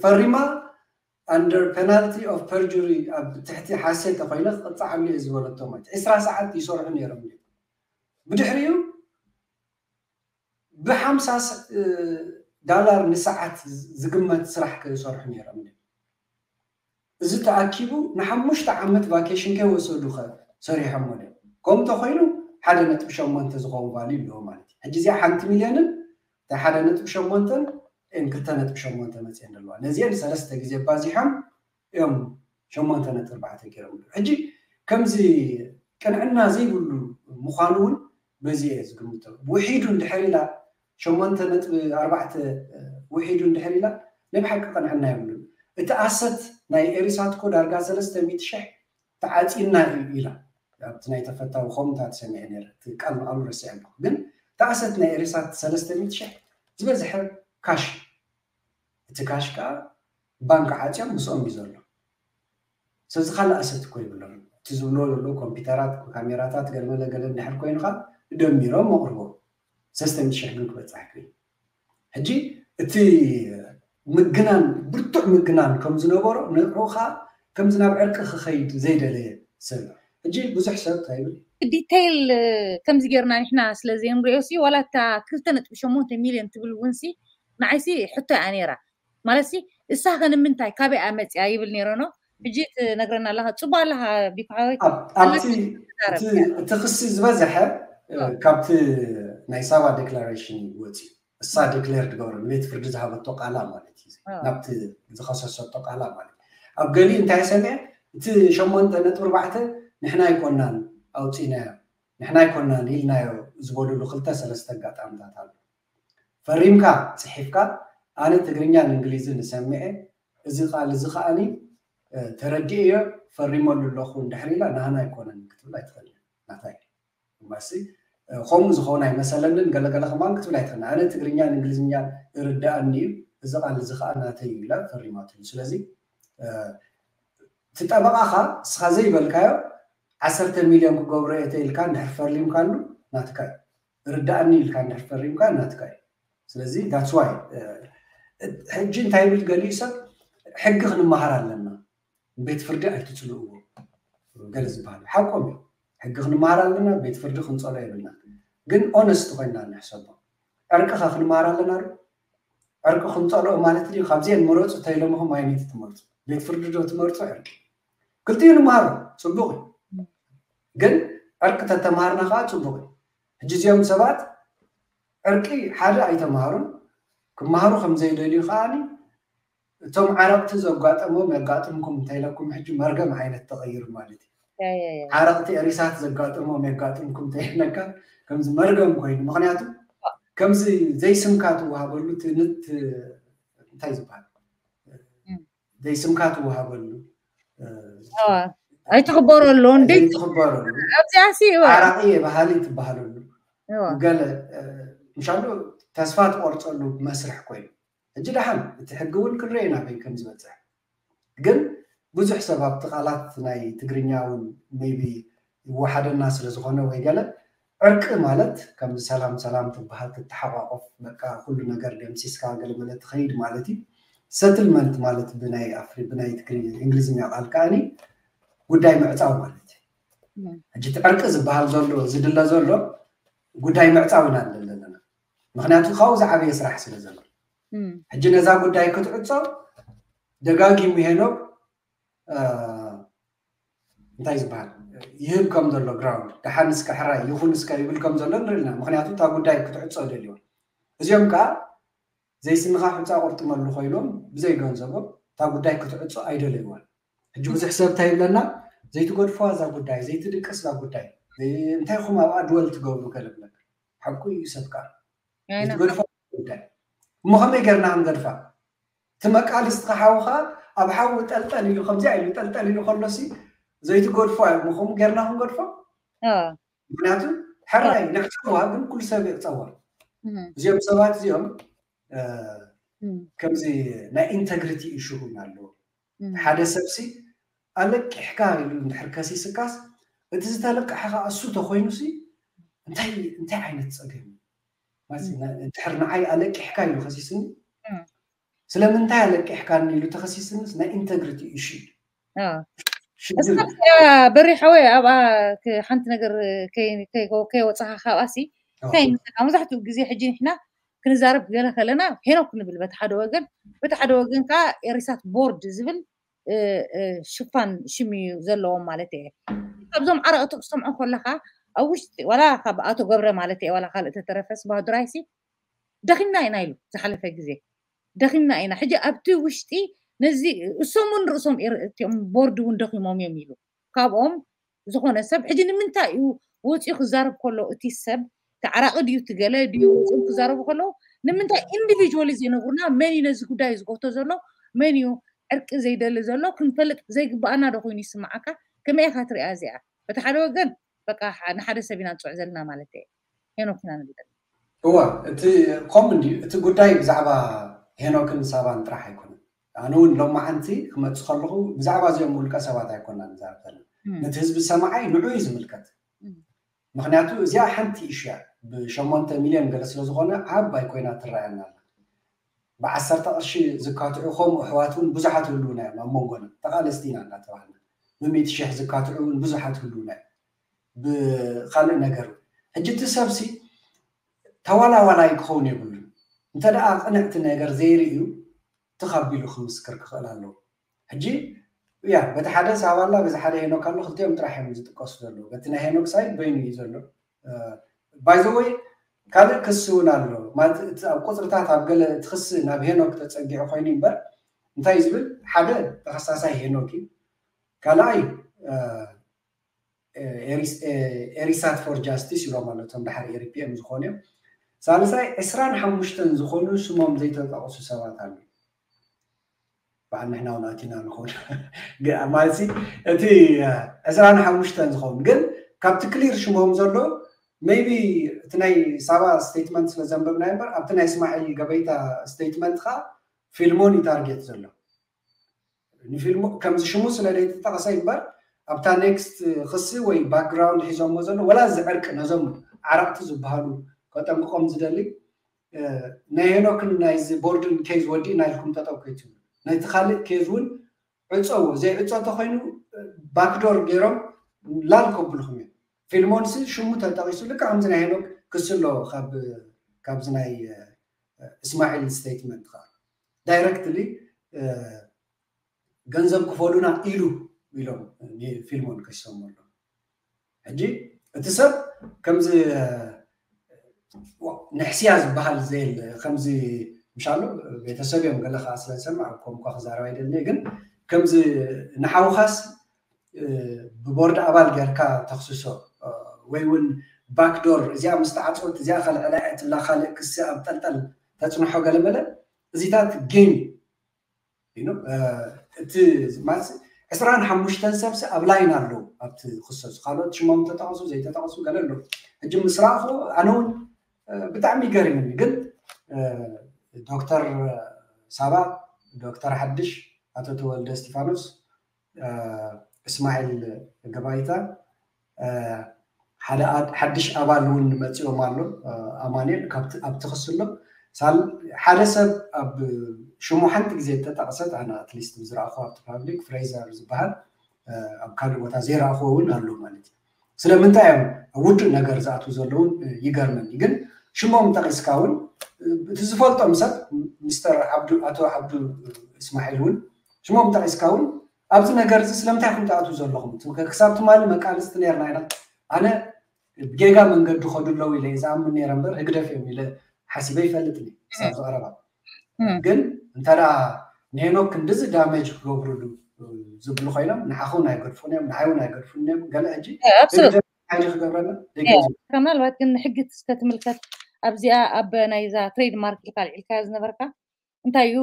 ፈሪማ under penalty of perjury ኣብ ትሕቲ ሓሴት ተኮይነ ክቅፃዓሉ እየ ዝበለቶ ማለት ዕስራ ሰዓት ይሰርሑ ነይሮም ድዮም ብድሕሪኡ ብሓምሳ ዳላር ንሰዓት ዝግመት ስራሕ ክሰርሑ ነይሮም ድዮም እዚ ተኣኪቡ ንሓሙሽተ ዓመት ቫኬሽን ከይወሰዱ ከ ሰሪሖሞ ድዮም ከምኡ ተኮይኑ ሓደ ነጥቢ ሸሞንተ ዝኸውን ቫልዩ ኣለዎ ማለት እዩ ሕጂ እዚኣ ሓንቲ ሚልዮንን እታ ሓደ ነጥቢ ሸሞንተን ክልተ ነጥቢ ሸሞንተ መፅአን ዘለዋ ነዚአን ሰለስተ ግዜ ባዚሖም እዮም ሸሞንተ ነጥቢ ኣርባዕተ ገይሮም ሕጂ ከምዚ ቅንዕና ዘይብሉ ምዃኑ እውን በዚ እየ ዝግምቶ ውሒዱ እንድሕር ኢላ ሸሞንተ ነጥቢ ኣርባዕተ ውሒዱ እንድሕር ኢላ ናይ ብሓቂ ቅንዕና የብሉን እቲ ኣሰት ናይ ኤሪሳትኮ ዳርጋ ሰለስተ ሚእቲ ሽሕ ተዓፂና እዩ ኢላ ኣብቲ ናይ ተፈታዊ ከምታት ሰሚዐ ነረ እቲ ቃል ንቃሉ ረሲዐ ኣለኩ ግን እቲ ኣሰት ናይ ኤሪሳት ሰለስተ ሚእቲ ሽሕ ዝበዝሐ ካሽ እቲ ካሽ ከዓ ባንክ ዓፅዮም ምስኦም እዩ ዘሎ ስለዚ ካልእ ኣሰት እኮ ይብሎም እቲ ዝብሎ ዘሎ ኮምፒውተራት ካሜራታት ገለመለ ገለ እንድሕር ኮይኑካ ደሚሮም መቕርቦ ሰለስተ ሚእቲ ሽሕ ግን ክበፅሕ ክብል ሕጂ እቲ ምግናን ብርቱዕ ምግናን ከም ዝነበሮ ንዑኻ ከምዚ ናብ ዕርቂ ክኸይድ ዘይደለየ ሰብ ሕጂ ብዙሕ ሰብ እንታይ ይብል ዲቴይል ከምዚ ጌርና ንሕና ስለ ዘይንሪኦ ሲ ዋላ እታ ክልተ ነጥቢ ሸሞንተ ሚልዮን ትብል እውን ሲ ንዓይሲ ሕቶ እያ ነይራ ማለት ሲ እሳ ከ ንምንታይ ካበይ እያ መፅያ ይብል ነይረ ኖ ሕጂ ትነግረና ኣለካ ፅቡቅ ኣለካ ቢኮ ሓወይ ኣብቲ እቲ ክሲ ዝበዝሐ ካብቲ ናይ ሳባ ዴክላሬሽን ወፅዩ እሳ ዲክሌር ትገብሮ ንቤት ፍርዲ ዝሃበቶ ቃላ ማለት እዩ ናብቲ ዝኸሰሰቶ ቃላ ማለት ኣብ ገሊ እንታይ ሰሚዐ እቲ ሸሞንተ ነጥቢ ኣርባዕተ ንሕና ኣይኮናን ኣውፂናዮ ንሕና ኣይኮናን ኢልናዮ ዝበልሉ ክልተ ሰለስተ ኣጋጣምታት ኣሎ ፈሪምካ ፅሒፍካ ኣነ ትግርኛን እንግሊዝን ዝሰምዐ እዚ ቃል እዚ ከዓኒ ተረዲእዮ ፈሪመሉ ኣለኹ እንድሕር ኢላ ናህና ኣይኮነን ክትብል ኣይትኽእል ናታይ ማሲ ከምኡ ዝኸውን ኣይመሰለንን ገለገለ ከማን ክትብል ኣይትኽእል ኣነ ትግርኛን እንግሊዝኛን ይርዳኣኒ እዩ እዚ ቃል እዚ ከዓ ናተይ እዩ ኢላ ፈሪማትሉ ስለዚ እቲ ጠበቃኻ እስኻ ዘይበልካዮ ዓሰርተ ሚልዮን ክገብሮ እየ ተኢልካ እንድሕር ፈሪምካሉ ናትካ እዩ ርዳእኒ ኢልካ እንድሕር ፈሪምካ ናትካ እዩ ስለዚ that's why ሕጂ እንታይ ይብል ገሊኡ ሰብ ሕጊ ክንመሃር ኣለና ቤት ፍርዲ ኣይትፅልእዎ ገለ ዝበሃል ሓቆም እዩ ሕጊ ክንመሃር ኣለና ቤት ፍርዲ ክንፀሎ የብልና ግን ኦነስት ኮይና ንሕሰቦ። ዕርቂ ከ ክንመሃር ኣለና ዶ? ዕርቂ ክንፀልኦ ማለት ድዩ? ካብዚአን ምረፁ ተይሎምኹም ኣይነይቲ ትመርፁ? ቤት ፍርዲ ዶ ትመርፁ ዕርቂ? ክልቲኡ ንመሃሮ፣ ፅቡቕ እዩ። ግን ዕርቂ ተተምሃርና ከዓ ፅቡቕ እዩ። ሕጂ እዚኦም ሰባት ዕርቂ ሓደ ኣይተምሃሩን፣ ክመሃሩ ከም ዘይደልዩ ከዓኒ እቶም ዓረቕቲ ዘጋጠሞም የጋጥምኩም እንተይለኩም ሕጂ መርገም ዓይነት ተቐይሩ ማለት እዩ። ዓረቕቲ ኤሪሳት ዘጋጠሞም የጋጥምኩም እንተይለካ ከምዚ መርገም ኮይኑ፣ ምክንያቱ ከምዚ ዘይስምካ ትወሃበሉ ትንት እንታይ ዝበሃል ዘይስምካ ትወሃበሉ ኣይትኽበረሉ እንዴ ዘይትኽበረሉ ኣብዚኣ ሲ ዓራቂ የባሃሊ ትበሃለሉ ገለ ምሻሉ ተስፋ ትቆርፀሉ መስርሕ ኮይኑ ሕጂ ደሓን እቲ ሕጊ እውን ክንርኢ ናበይ ከም ዝበፅሕ ግን ብዙሕ ሰብ ኣብቲ ቃላት ናይ ትግርኛ እውን maybe ይወሓደና ስለ ዝኾነ ወይ ገለ ዕርቂ ማለት ከምዚ ሰላም ሰላም ትበሃል ትተሓቋቆፍ በቃ ኩሉ ነገር ደምሲስካ ገለመለ ትኸይድ ማለት እዩ። ሰትልመንት ማለት ብናይ ኣፍሪ ብናይ ትግርኛ እንግሊዝኛ ቃል ከዓኒ ጉዳይ ምዕፃው ማለት እዩ። ሕጂ እቲ ዕርቂ ዝበሃል ዘሎ ዝድለ ዘሎ ጉዳይ ምዕፃው ኢና ንደሊ ዘለና። ምክንያቱ ካብኡ ዝዓበየ ስራሕ ስለ ዘሎ ሕጂ ነዛ ጉዳይ ክትዕፆ ደጋጊሙ ሄኖክ እንታይ ዝበሃል ይህብ ከም ዘሎ ግራውንድ ደሓን እስከ ሕራይ ይኹን እስከ ይብል ከም ዘሎ ንርኢ ኣለና። ምክንያቱ እታ ጉዳይ ክትዕፆ ደልዮ እዚኦም ከዓ ዘይስንኻ ሕፃ ቁርጥመሉ ኮይኖም ብዘይ ገንዘቦም እታ ጉዳይ ክትዕፆ ኣይደለይዋን። ሕጂ ብዙሕ ሰብ እንታይ ይብለና ዘይትገድፎ እዛ ጉዳይ ዘይትድቅስ እዛ ጉዳይ እንታይ ኹም ኣብኣ ድወል ትገብሩ ገለ ብለካ ሓቁ እዩ ሰብ ከዓ ዘይትገድፎ ጉዳይ እሞ ከመይ ገርና ክንገድፋ እቲ መቃልስቲ ሓውኻ ኣብ ሓዊ ጠልጠል ኢሉ ከምዚኣ ኢሉ ጠልጠል ኢሉ ከሎሲ ዘይትገድፎ እሞ ከምኡ ጌርና ክንገድፎ ምክንያቱ ሕራይ ንዕፀዋ ግን ኩሉ ሰብ ይዕፀዋ እዚኦም ሰባት እዚኦም ከምዚ ናይ ኢንተግሪቲ ኢሹ እውን ኣለዎ ሓደ ሰብሲ ኣለቂሕካ ኢሉ እንድሕር ከሲስካስ እቲ ዝተለቀሐ ከዓ እሱ ተኮይኑሲ እንታይ እንታይ ዓይነት ፀገም ድሕር ንዓይ ኣለቂሕካ ኢሉ ከሲስኒ ስለምንታይ ኣለቂሕካኒ ኢሉ ተኸሲስንስ ናይ ኢንተግሪቲ ኢሹ በሪሓወ ኣብኣ ሓንቲ ነገር ከይወፅኻ ካብኣሲ እንታይ ይመስለካ መብዛሕትኡ ግዜ ሕጂ ንሕና ክንዛረብ ገለ ከለና ሄኖክ ንብል በቲ ሓደ ወገን በቲ ሓደ ወገን ከዓ ኤሪሳት ቦርድ ዝብል ሽፋን ሽም እዩ ዘለዎም ማለት እየ ካብዞም ዓረቕቲ ክሰምዖ ከለካ ኣብ ውሽጢ ዋላ ካብ ኣቶ ገብረ ማለት እየ ዋላ ካልእ ተተረፈስ ባህዱራይሲ ደኺምና ኢና ኢሉ ዝሓለፈ ግዜ ደኺምና ኢና ሕጂ ኣብቲ ውሽጢ ነዚ እሶም እውን ርእሶም እቲኦም ቦርድ እውን ደኺሞም እዮም ኢሉ ካብኦም ዝኾነ ሰብ ሕጂ ንምንታይ እዩ ወፂኡ ክዛረብ ከሎ እቲ ሰብ ተዓራቂ ድዩ ትገለ ድዩ ወፂኦም ክዛረቡ ከለዉ ንምንታይ ኢንዲቪጁዋሊ ዘይነግሩና መን እዩ ነዚ ጉዳይ ዝጎቶ ዘሎ መን እዩ ዕርቂ ዘይደሊ ዘሎ ክንፈልጥ ዘይግባኣና ዶ ኮይኑ ይስምዓካ ከመይ ኢካ ትሪኣ እዚኣ በቲ ሓደ ወገን በቃ ንሓደ ሰብ ኢና ንፅዑ ዘለና ማለት እየ ሄኖክ ኢና ንብል እዋ እቲ ከምኡ እንድዩ እቲ ጉዳይ ብዛዕባ ሄኖክን ሳባን ጥራሕ ኣይኮነን ኣነ እውን ሎማዓንቲ ክመፅእ ከለኹ ብዛዕባ እዚኦም ውልቀ ሰባት ኣይኮና ንዛረብ ዘለና ነቲ ህዝቢ ሰማዓይ ንዑ እዩ ዝምልከት ምክንያቱ እዚኣ ሓንቲ ኢሹ እያ ብሸሞንተ ሚልዮን ገለ ስለዝኮነ ዓባይ ኮይና ትረኣየና ኣላ ብዓሰርተ ቅርሺ ዝካትዑ ከምኡ ኣሕዋት እውን ብዙሓት ህልውና እዮም ኣብ መንጎና ተቃለስቲ ኢና እናተባሃልና ብሚእቲ ሽሕ ዝካትዑ እውን ብዙሓት ህልውና እዮም ብካልእ ነገር ሕጂ እቲ ሰብሲ ተዋላዋላይ ክኸውን የብሉን እንተ ደኣ ቅንዕቲ ነገር ዘይርእዩ ትኻቢሉ ክምስክር ክኽእል ኣለዎ ሕጂ ያ በቲ ሓደ ሳባላ በዚ ሓደ ሄኖክ ኣሎ ክልቲኦም ጥራሕ እዮም ዝጥቀሱ ዘለዉ በቲ ናይ ሄኖክ ሳይድ በይኑ እዩ ዘሎ ባይዘወይ ካልእ ክሲ እውን ኣሎ ማለት እቲ ኣብ ቁፅርታት ኣብ ገለ እቲ ክሲ ናብ ሄኖክ ተፀጊዑ ኮይኑ እምበር እንታይ ዝብል ሓደ ተኸሳሳይ ሄኖክ እዩ ካልኣይ ኤሪሳት ፎር ጃስቲስ ኢሎም ኣለቶም ድሓር ኤሪፒኤም ዝኾኑ እዮም ሳልሳይ ዕስራን ሓሙሽተን ዝኾኑ ስሞም ዘይተጠቕሱ ሰባት ኣለዉ በዓል ንሕና እውን ኣቲና ንኸውን ማለት እቲ ዕስራን ሓሙሽተን ዝኸውን ግን ካብቲ ክሊር ሽሞም ዘሎ maybe እቲ ናይ ሳባ ስቴትመንት ስለ ዘንበብና እምበር ኣብቲ ናይ እስማዒል ገበይታ ስቴትመንት ከዓ ፊልሞን እዩ ታርጌት ዘሎ ንፊልሙ ከምዚ ሽሙ ስለ ዘይተጠቐሰ እምበር ኣብታ ኔክስት ክሲ ወይ ባክግራውንድ ሒዞሞ ዘሎ ወላ እዚ ዕርቂ ነዞም ዓረቕቲ ዝበሃሉ ከጠንቅቆም ዝደሊ ናይ ሄኖክን ናይዚ ቦርድን ኬዝ ወዲእና ኢልኩም ጠጠው ከይትብሉ ነቲ ካልእ ኬዝ እውን ዕፀዎ ዘይዕፀ ተኮይኑ ባክዶር ገይሮም ላል ከብልኩም እዮም ፊልሞንሲ ሽሙ ተጠቂሱ ልክዕ ከምዚ ናይ ሄኖክ ክሲ ኣሎ። ካብዚ ናይ እስማዒል ስቴትመንት ከዓ ዳይረክትሊ ገንዘብ ክፈሉና ኢሉ ኢሎም ፊልሞን ከሲሶም ኣሎ። ሕጂ እቲ ሰብ ከምዚ ንሕስያ ዝበሃል ዘየለ ከምዚ ምሻሉ ቤተሰብ እዮም ገለ ከዓ ስለዝሰምዕ ከምኳ ክዛረብ ኣይደልኒ ግን ከምዚ ንሓውኻስ ብቦርድ ኣባል ጌርካ ተኽስሶ ወይ እውን ባክዶር እዚኣ ምስ ተዓፅወት እዚኣ ከልዕላ እያ ትብላ ካልእ ክሲ ኣብ ጠልጠል ተፅንሖ ገለመለ እዚታት ጌም እዩ። እቲ ማለት ዕስራን ሓሙሽተን ሰብሲ ኣብ ላይን ኣለዉ ኣብቲ ክሰሱ ካልኦት ሽሞም ተጠቐሱ ዘይተጠቐሱ ገለ ኣለዉ። ሕጂ ምስ ረኣኹ ኣነ እውን ብጣዕሚ ይገርምኒ ግን ዶክተር ሳባ፣ ዶክተር ሓድሽ፣ ኣቶ ተወልደ እስቲፋኖስ፣ እስማዒል ገባይታ ሓደ ሓድሽ ኣባል እውን መፂኦም ኣሎ ኣማኒኤል ኣብቲ ክስሎ ሓደ ሰብ ኣብ ሽሙ ሓንቲ ግዜ ተጠቕሰት ኣነ ኣትሊስት ዝረኣኹ ኣብቲ ፓብሊክ ፍሬዘር ዝበሃል ኣብ ካልእ ቦታ ዘይረኣኽዎ እውን ኣሎ ማለት እዩ። ስለምንታይ እዮም ኣብ ውዱእ ነገር ዝኣትዉ ዘለውን ይገርመኒ ግን ሽሞም ጠቒስካ እውን እቲ ዝፈልጦም ሰብ ሚስተር ዓብዱ ኣቶ ዓብዱ እስማዒል እውን ሽሞም ጠቒስካ እውን ኣብዚ ነገር እዚ ስለምንታይ ኢኹም ትኣትዉ ዘለኹም ክሳብ ትማሊ መቃልስቲ ነርና ኢና ኣነ ብጌጋ መንገዲ ከዱ ኣለዉ ኢለ ዝኣምን ነረ እምበር ህግደፍ እዮም ኢለ ሓሲበ ይፈልጥ ክሳብ ዝቐረባ ግን እንተ ንሄኖክ ክንድዚ ዳሜጅ ክገብሩሉ ዝብሉ ኮይኖም ንዓኹን ኣይገድፉን እዮም ንዓይ እውን ኣይገድፉን እዮም ገለ ሕጂ ሕጂ ክገብረና ምናልባት ግን ንሕጊ እስከ ትምልከት ኣብዚኣ ኣብ ናይዛ ትሬድ ማርክ ኢልካ ልዒልካዮ ዝነበርካ እንታይ እዩ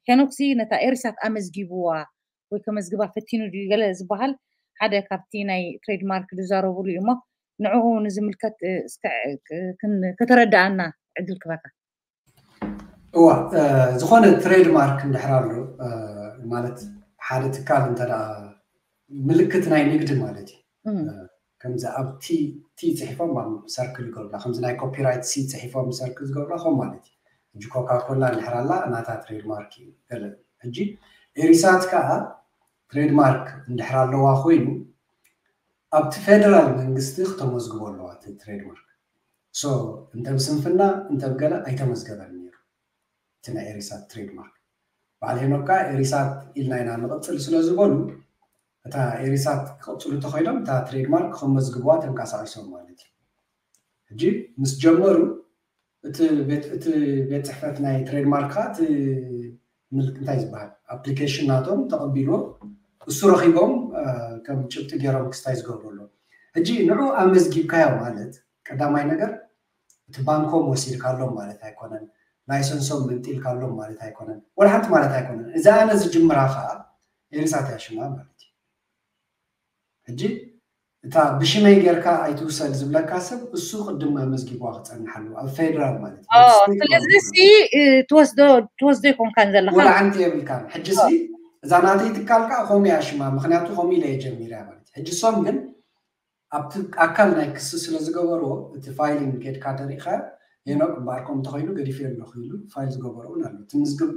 ሄኖክሲ ነታ ኤሪሳት ኣመዝጊብዋ ወይ ከመዝግባ ፈቲኑ ድዩ ገለ ዝበሃል ሓደ ካብቲ ናይ ትሬድ ማርክ ዝዛረብሉ እዩ እሞ ንዕኡ ንዝምልከት ከተረዳኣና ዕድል ክበካ እዋ ዝኾነ ትሬድ ማርክ እንድሕር ኣሎ ማለት ሓደ ትካል እንተ ምልክት ናይ ንግዲ ማለት እዩ ከምዚ ኣብ ቲ ቲ ፅሒፎም ኣብ ሰርክል ዝገብሩላ ከምዚ ናይ ኮፒራይት ሲ ፅሒፎም ሰርክል ዝገብሩላ ከም ማለት እዩ ሕጂ ኮካኮላ እንድሕር ኣላ ናታ ትሬድ ማርክ እዩ ገለ ሕጂ ኤሪሳት ከዓ ትሬድ ማርክ እንድሕር ኣለዋ ኮይኑ ኣብቲ ፌደራል መንግስቲ ክተመዝግቦ ኣለዋ እቲ ትሬድ ማርክ ሶ እንተ ብስንፍና እንተ ብገለ ኣይተመዝገበን ነይሩ እቲ ናይ ኤሪሳት ትሬድ ማርክ በዓል ሄኖካ ኤሪሳት ኢልና ኢና ንቕፅል ስለ ዝበሉ እታ ኤሪሳት ክቕፅሉ ተኸይዶም እታ ትሬድ ማርክ ከመዝግብዋ ተንቀሳቒሶም ማለት እዩ ሕጂ ምስ ጀመሩ እቲ ቤት ጽሕፈት ናይ ትሬድ ማርክ ከዓ እቲ ምልክ እንታይ ዝበሃል ኣፕሊኬሽን ናቶም ተቐቢልዎ እሱ ረኺቦም ከም ጭብጢ ገይሮም ክስታይ ዝገብሩ ኣለዉ ሕጂ ንዑ ኣመዝጊብካዮ ማለት ቀዳማይ ነገር እቲ ባንኮም ወሲድካሎም ማለት ኣይኮነን ላይሰንሶም መንጢልካሎም ማለት ኣይኮነን ወላ ሓንቲ ማለት ኣይኮነን እዛ ኣነ ዝጅምራ ከዓ ኤሪሳት ያሽማ ማለት እዩ ሕጂ እታ ብሽመይ ጌርካ ኣይትውሰድ ዝብለካ ሰብ እሱ ቅድም ኣመዝጊብዋ ክፀንሓሉ ኣብ ፌደራል ማለት እዩ ስለዚ ሲ ትወስዶ ትወስዶ ይኮንካን ዘለካ ወላ ሓንቲ የብልካን ሕጂ ሲ እዛ ናተይ ትካል ከዓ ከምኡ እያ ሽማ ምክንያቱ ከምኡ ኢለ እየ ጀሚረ ማለት ሕጂ ሶም ግን ኣብቲ ኣካል ናይ ክሲ ስለ ዝገበርዎ እቲ ፋይሊንግ ጌድካ ተሪኢካ ሄኖክ እምበኣር ከምኡ ተኸይኑ ገዲፈ ኣለኹ ኢሉ ፋይል ዝገበሮ እውን ኣሎ እቲ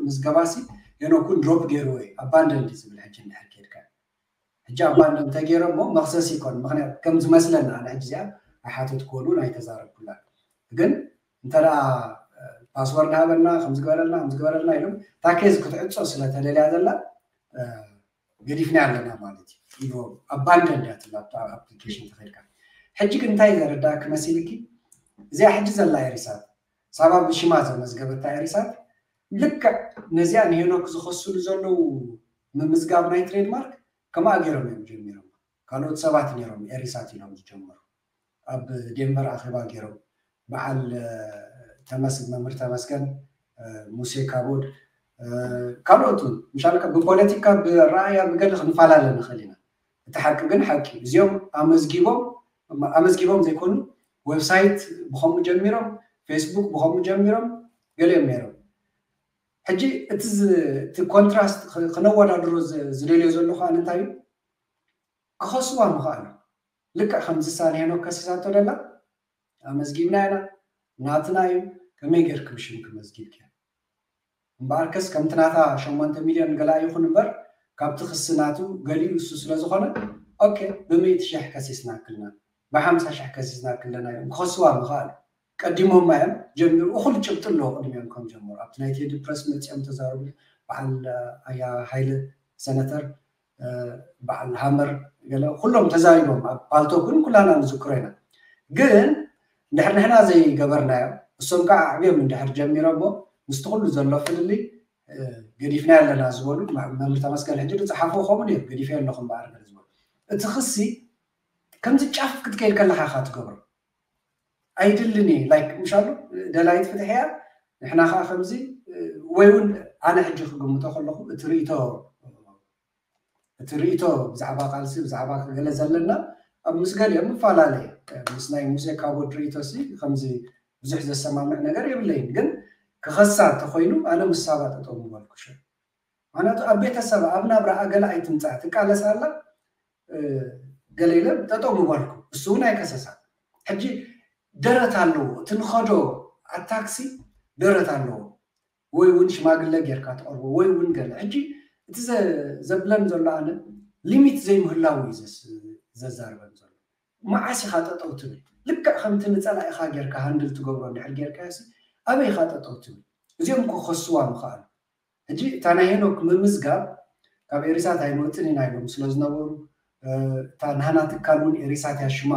ምዝገባ ሲ ሄኖክ እውን ድሮፕ ገይርዎ እዩ ኣባንደንድ ዝብል ሕጂ እንድሕር ኬድካ ሕጂ ኣባንደንድ ተገይሮ እሞ መክሰስ ይኮን ምክንያት ከም ዝመስለና ኣነ ሕጂ እዚኣ ኣይሓተትክዎን እውን ኣይተዛረብኩላ ግን እንተ ፓስወርድ ሃበና ከምዝገበረልና ከምዝገበረልና ኢሎም ታኬዝ ክትዕፆ ስለተደልያ ዘላ ገዲፍና ኣለና ማለት እዩ ኢልዎም ኣባንደንድ እያ ትብላ ኣብታ ኣፕሊኬሽን ተኸድካ ሕጂ ግን እንታይ ዘረዳእኪ መሲልኪ እዚኣ ሕጂ ዘላ ኤሪሳት ሳባ ብሽማ ዘመዝገበታ ኤሪሳት ልክዕ ነዚኣ ንሄኖክ ዝኸስሉ ዘለዉ ምምዝጋብ ናይ ትሬድማርክ ከማኣ ገይሮም እዮም ጀሚሮም ካልኦት ሰባት ነይሮም ኤሪሳት ኢሎም ዝጀመሩ ኣብ ዴንቨር ኣኼባ ገይሮም በዓል መምህር ተመስገን ሙሴ ካቦድ ካልኦት እውን ምሻልካ ብፖለቲካ ብረኣያ ብገለ ክንፈላለ ንኽእል ኢና እቲ ሓቂ ግን ሓቂ እዚኦም ኣመዝጊቦም ኣመዝጊቦም ዘይኮኑ ዌብሳይት ብኸምኡ ጀሚሮም ፌስቡክ ብኸምኡ ጀሚሮም ገሊኦም ነይሮም ሕጂ እቲ ኮንትራስት ክነወዳድሮ ዝደልዮ ዘለኹ ኣነ እንታይ እዩ ክኸስዋ ምኽኣሉ ልክዕ ከምዚ ሳን ሄኖክ ከሲሳቶ ደላ ኣመዝጊብና ኢና ናትና እዩ ከመይ ጌርክ ብሽምክ መዝጊብክ እምበኣርከስ ከምቲ ናታ ሸሞንተ ሚልዮን ገላ ይኹን እምበር ካብቲ ክሲ ናቱ ገሊኡ እሱ ስለ ዝኾነ ኦኬ ብምእቲ ሽሕ ከሲስና ክልና ብሓምሳ ሽሕ ከሲስና ክለና እዮም ክኸስዋ ምኽኣሉ። ቀዲሞማ እዮም ጀሚሩ፣ እኹል ጭብጢ ኣለዎ ቅድሚኦም ከም ጀመሩ። ኣብቲ ናይ ቴዲ ፕረስ መፂኦም ተዛረቡ። በዓል ኣያ ሃይለ ሰነተር፣ በዓል ሃመር፣ ገለ ኩሎም ተዛሪቦም ኣብ ፓልቶክ እውን ኩላና ንዝክሮ ኢና። ግን እንድሕር ንሕና ዘይገበርናዮ፣ እሶም ከዓ ኣዕብዮም እንድሕር ጀሚሮሞ ምስቲ ኩሉ ዘሎ ፍልልይ ገዲፍና ኣለና ዝበሉ መምህር ተመስገን ሕጂ ዝፀሓፍዎ ከምኡ ነይሩ። ገዲፈ ኣለኹም በኣር ገለ ዝበሉ እቲ ክሲ ከምዚ ጫፍ ክትከይድ ከለካ ኢካ ትገብሮ። ኣይድልን እየ ላይክ ምሻሉ ደላይት ፍትሕ እያ። ንሕና ከዓ ከምዚ ወይ እውን ኣነ ሕጂ ክግምቶ ከለኹ እቲ ርእቶ እቲ ርእቶ ብዛዕባ ቃልሲ ብዛዕባ ገለ ዘለና ኣብ ምስ ገሊኦም ምፈላለየ ምስ ናይ ሙሴ ካቦድ ርእቶ ሲ ከምዚ ብዙሕ ዘሰማምዕ ነገር የብለይን። ግን ክኸሳ እንተኮይኑ ኣነ ምስ ሳባ ጠጠው ምበልኩ ሽዑ። ምክንያቱ ኣብ ቤተሰብ ኣብ ናብራ ገለ ኣይትምፃእ ትቃለስ ኣላ ገለ ኢለ ጠጠው ምበልኩ። እሱ እውን ኣይከሰሳ። ሕጂ ደረት ኣለዎ እቲ ንኸዶ ኣታክሲ ደረት ኣለዎ። ወይ እውን ሽማግለ ጌርካ ትቐርቦ ወይ እውን ገለ ሕጂ እቲ ዘብለን ዘሎ ኣነ ሊሚት ዘይምህላው እዩ ዘዛርበን ዘሎ። መዓስ ኢኻ ጠጠው ትብል? ልክዕ ከምቲ ንፀላኢኻ ጌርካ ሃንድል ትገብሮ እንድሕር ጌርካ ሲ ኣበይ ኢኻ ጠጠው ትብል? እዚኦም እኮ ክኸስዋ ምኽኣሉ። ሕጂ እታ ናይ ሄኖክ ምምዝጋብ ካብ ኤሪሳት ኣይንወፅን ኢና ኢሎም ስለ ዝነበሩ እታ ናህና ትካል እውን ኤሪሳት እያ ሽማ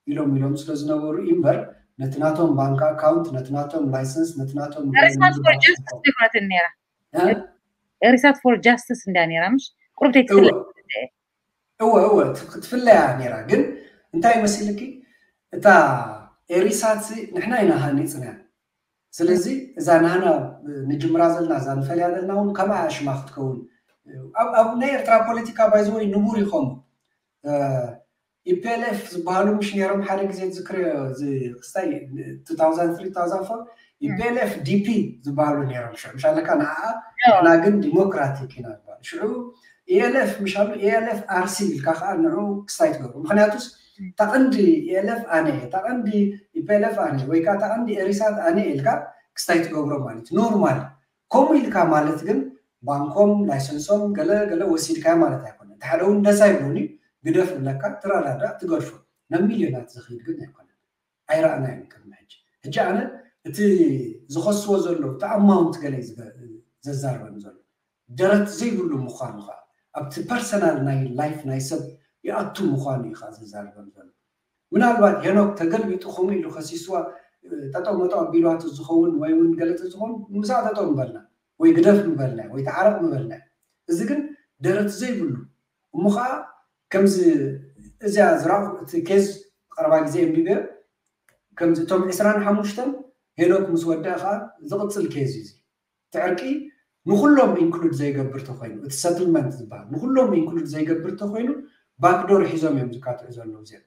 ኢሎም ኢሎም ስለ ዝነበሩ እምበር ነቲ ናቶም ባንክ ኣካውንት ነቲ ናቶም ላይሰንስ ነቲ ናቶም ኤሪሳት ፎር ጃስቲስ ይብላትን ነይራ። ኤሪሳት ፎር ጃስቲስ እንዳ ነይራ ምሽ ቁርብተይ ትፍለ እወ እወ ክትፍለያ ነይራ። ግን እንታይ መሲልኪ እታ ኤሪሳት ንሕና ኢና ሃኒፅና። ስለዚ እዛ ናህና ንጅምራ ዘለና እዛ ንፈልያ ዘለና እውን ከምኣ ሽማ ክትከውን ኣብ ናይ ኤርትራ ፖለቲካ ባይዘወይ ንቡር ይኸሙ ኢፒኤልኤፍ ዝበሃሉ ምሽ ነይሮም ሓደ ግዜ ዝክርዮ ክስታይ ኢፒኤልኤፍ ዲፒ ዝበሃሉ ነይሮም ሽዑ ምሻለካ ንዓ እና ግን ዲሞክራቲክ ኢና ዝበሃል ሽዑ ኢኤልኤፍ ምሻሉ ኢኤልኤፍ ኣርሲ ኢልካ ከዓ ንዑ ክስታይ ትገብሩ ምክንያቱስ ታቐንዲ ኢኤልኤፍ ኣነ ታቐንዲ ኢፒኤልኤፍ ኣነ ወይ ከዓ ታቐንዲ ኤሪሳት ኣነ ኢልካ ክስታይ ትገብሮ ማለት ኖርማል ከምኡ ኢልካ ማለት ግን ባንኮም ላይሰንሶም ገለ ገለ ወሲድካዮ ማለት ኣይኮነ እቲ ሓደ እውን ደስ ኣይብሉኒ ግደፍ ብለካ ትረዳዳእ ትገድፎ ናብ ሚልዮናት ዝኽይድ ግን ኣይኮነ ኣይረኣናዮን ቅድሚ ሕጂ ሕጂ ኣነ እቲ ዝኸስዎ ዘሎ እቲ ኣማውንት ገለ ዘዛርበኒ ዘሎ ደረት ዘይብሉ ምዃኑ ከዓ ኣብቲ ፐርሰናል ናይ ላይፍ ናይ ሰብ ይኣቱ ምዃኑ እዩ ከዓ ዘዛርበኒ ዘሎ ምናልባት ሄኖክ ተገልቢጡ ከምኡ ኢሉ ከሲስዋ ጠጠው መጠው ኣቢልዋቱ ዝኸውን ወይ እውን ገለፀ ዝኸውን ምስኣ ጠጠው ምበልና ወይ ግደፍ ምበልና ወይ ተዓረቕ ምበልና እዚ ግን ደረት ዘይብሉ እሞ ከዓ ከምዚ እዚኣ ዝረኣኹ እቲ ኬዝ ቀረባ ግዜ እንቢበ ከምዚ እቶም ዕስራን ሓሙሽተን ሄኖክ ምስ ወደአ ከዓ ዝቕፅል ኬዝ እዩ እዚ እቲ ዕርቂ ንኩሎም ኢንክሉድ ዘይገብር ተኮይኑ እቲ ሰትልመንት ዝበሃል ንኩሎም ኢንክሉድ ዘይገብር ተኮይኑ ባክዶር ሒዞም እዮም ዝካትዑ ዘለዉ እዚኦም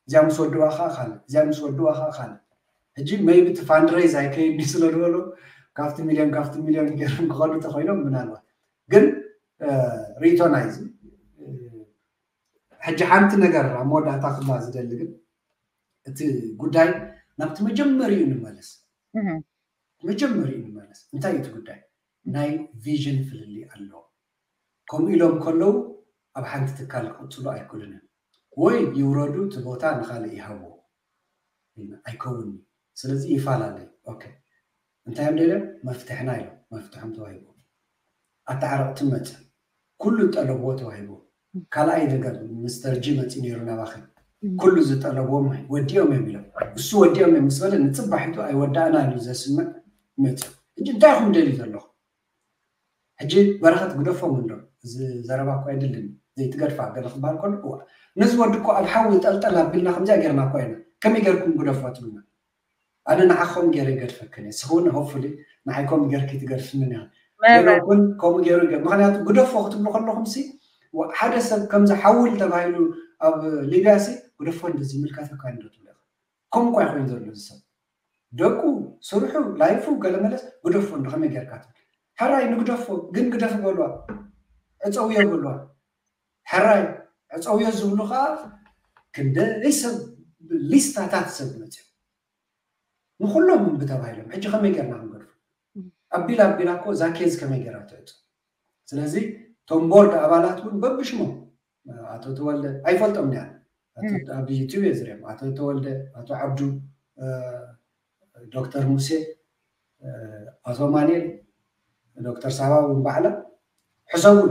እዚኣ ምስ ወድዋ ከዓ ካልእ እዚኣ ምስ ወድዋ ከዓ ካልእ ሕጂ መይቢ እቲ ፋንድሬዝ ኣይከይድኒ ስለ ዝበሉ ካብቲ ሚልዮን ካብቲ ሚልዮን ገይሮም ክኸዱ ተኮይኖም ምናልባት ግን ርእቶ ናይዚ ሕጂ ሓንቲ ነገር ኣብ መወዳእታ ክብላ ዝደሊ ግን እቲ ጉዳይ ናብቲ መጀመሪኡ ንመለስ መጀመሪኡ ንመለስ እንታይ እቲ ጉዳይ ናይ ቪዥን ፍልልይ ኣለዎ ከምኡ ኢሎም ከለዉ ኣብ ሓንቲ ትካል ክቕፅሉ ኣይክእሉን እዮም ወይ ይውረዱ እቲ ቦታ ንካልእ ይሃብዎ ኣይከውን ስለዚ ይፈላለዩ ኦኬ እንታይ እዮም ደልዮም መፍትሕና ኢሎም መፍትሖም ተዋሂቦም ኣተዓረቕቲ መፅእ ኩሉ ዝጠለብዎ ተዋሂቦም ካልኣይ ነገር ምስተር ጂ መፂ ነይሩ ናባኺ ኩሉ ዝጠለብዎም ወዲኦም እዮም ኢሎም እሱ ወዲኦም እዮም ምስ በለ ንፅባሒቱ ኣይወዳእናን እዩ ዘስምዕ መፅእ ሕጂ እንታይ ኢኹም ደልዩ ዘለኹም ሕጂ በረኸት ግደፎም እንዶ እዚ ዘረባ እኮ ኣይድልን ዘይትገድፋ ገለ ክበሃል ከሎ እዋ ነዚ ወዲ እኮ ኣብ ሓዊ ጠልጠል ኣቢልና ከምዚኣ ጌርና እኮ ኢና ከመይ ጌርኩም ግደፎ ትብልና ኣነ ንዓኹም ገይረ ይገድፈክን እየ ስኹውን ሆፕፉሊ ንዓይ ከምኡ ጌርኪ ትገድፍንን ኢኻ ገለኩን ከምኡ ገይሩ ይገ ምክንያቱ ግደፎ ክትብሉ ከለኹም ሲ ሓደ ሰብ ከምዚ ሓውል ተባሂሉ ኣብ ሊብያ ሲ ግደፎ እንደዚ ይምልከተካ እንዶ ትብሉ ኢኻ ከምኡ እኳ ይኮይን ዘሎ እዚ ሰብ ደቁ ስርሑ ላይፉ ገለመለስ ግደፎ እንዶ ከመይ ጌርካ ትብል ሕራይ ንግደፎ ግን ግደፍ በልዋ ዕፀውዮ በልዋ ሕራይ ዕፀውዮ ዝብሉ ከዓ ክንደይ ሰብ ሊስታታት ሰብ መፅኦም ንኩሎም እምቢ ተባሂሎም ሕጂ ከመይ ጌርና ክንገድፎ ኣቢላ ኣቢላ እኮ እዛ ኬዝ ከመይ ጌራ ትዕፆ ስለዚ እቶም ቦርድ ኣባላት እውን በብሽሞም ኣቶ ተወልደ ኣይፈልጦም ያ ኣብ ዩቲዩብ እየ ዝሪኦም። ኣቶ ተወልደ፣ ኣቶ ዓብዱ፣ ዶክተር ሙሴ፣ ኣቶ ማንኤል፣ ዶክተር ሳባ እውን ባዕላ ሕሰቡሉ።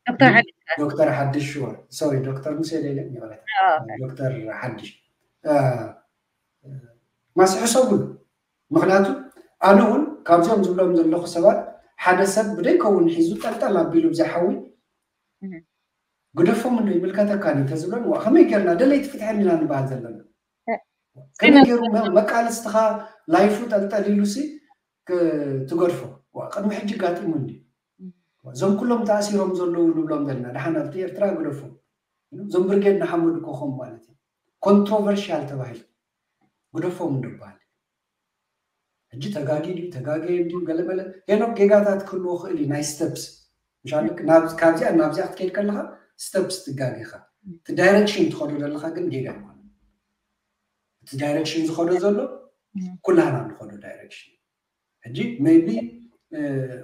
ዶክተር ሓድሽ ዶክተር ሓድሽ ሽወር ሶሪ ዶክተር ሙሴ ደለ ይቕረታ ዶክተር ሓድሽ ማስ ሕሰቡሉ። ምክንያቱ ኣነ እውን ካብዚኦም ዝብሎም ዘለኹ ሰባት ሓደ ሰብ ብደይከውን ሒዙ ጠልጠል ኣቢሉ ብዘይሓዊ ግደፎም እንዶ ይምልከተካ እንተዝብሎም ከመይ ጌርና ደለይቲ ፍትሒ ኢና ንበሃል ዘለና? ከመይ ገይሩ መቃለስትኻ ላይፉ ጠልጠል ኢሉ ሲ ትገድፎ? ቅድሚ ሕጂ ጋጢሙ እንዲ እዞም ኩሎም ተኣሲሮም ዘለዉ ንብሎም ዘለና ደሓን ኣብቲ ኤርትራ ግደፎም። እዞም ብርጌድ ንሓመዱ ኮኾም ማለት እዩ ኮንትሮቨርሽያል ተባሂሉ ግደፎም እንድበሃል። ሕጂ ተጋጊ ድዩ ተጋገየ ድዩ ገለመለ ሄኖክ ጌጋታት ክህልዎ ክእል እዩ ናይ ስተፕስ ምሻ ካብዚኣ ናብዚኣ ክትከይድ ከለካ ስተፕስ ትጋጌካ እቲ ዳይሬክሽን ትኸዶ ዘለካ ግን ጌጋ ይኮነ እቲ ዳይሬክሽን ዝኸዶ ዘሎ ኩላህና ንኸዶ ዳይሬክሽን ሕጂ ሜቢ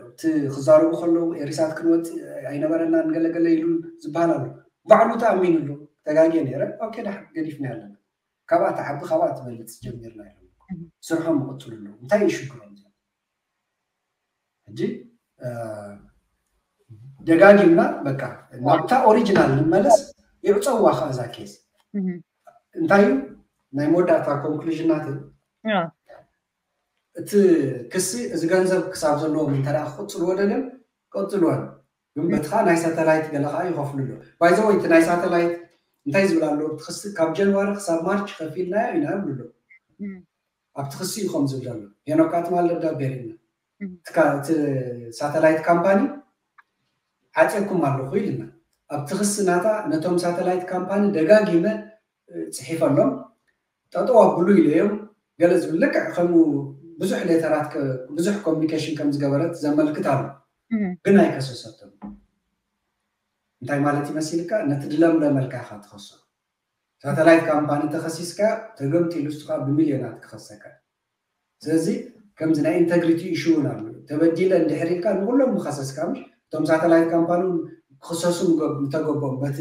እቲ ክዛረቡ ከለዉ ኤሪሳት ክንወፅእ ኣይነበረና ንገለገለ ኢሉ ዝበሃል ኣሎ ባዕሉ ተኣሚኑሉ ተጋጌ ነረ ኦኬ ዳ ገዲፍና ኣለና ካብኣ ትዓቢ ካብኣ ትበልፅ ጀሚርና ኢሎም ስርሖም ይቕፅሉ ኣለዉ እንታይ እዩ ሽግሮም እዚኦም ሕጂ ደጋጊምና በቃ ናብታ ኦሪጂናል ንመለስ ይዕፀዋ ከዓ እዛ ኬዝ እንታይ እዩ ናይ መወዳእታ ኮንክሉዥናት እቲ ክሲ እዚ ገንዘብ ክሳብ ዘለዎም እንተ ክቕፅልዎ ደልዮም ቀፅልወን ግን በትኻ ናይ ሳተላይት ገለ ከዓ ይኸፍሉ ኣሎ ባይዘወይ እቲ ናይ ሳተላይት እንታይ ዝብል ኣሎ እቲ ክሲ ካብ ጀንዋሪ ክሳብ ማርች ከፊልናዮ ኢና ይብሉ ኣሎ ኣብቲ ክሲ እዩ ከም ዝብል ዘሎ ሄኖካ ትማል ደብዳቤ ርኢና እቲ ሳተላይት ካምፓኒ ዓፅየኩም ኣለኹ ኢልና ኣብቲ ክሲ ናታ ነቶም ሳተላይት ካምፓኒ ደጋጊመ ፅሒፈሎም ጠጠው ኣብሉ ኢለዮም ገለ ዝብል ልክዕ ከምኡ ብዙሕ ሌተራት ብዙሕ ኮሚኒኬሽን ከም ዝገበረት ዘመልክት ኣሎ ግን ኣይከሰሰቶም እንታይ ማለት ይመሲልካ ነቲ ድለምለመልካ ኢኻ ትኸሶ ሳተላይት ካምፓኒ ተኸሲስካ ተገምጢሉ እሱ ከዓ ብሚልዮናት ክኸሰካ ስለዚ ከምዚ ናይ ኢንተግሪቲ ኢሹ እውን ኣሎ ተበዲለ እንድሕር ኢልካ ንኩሎም ምኸሰስካ ምሽ እቶም ሳተላይት ካምፓኒ ክኸሰሱ ምተገቦም በቲ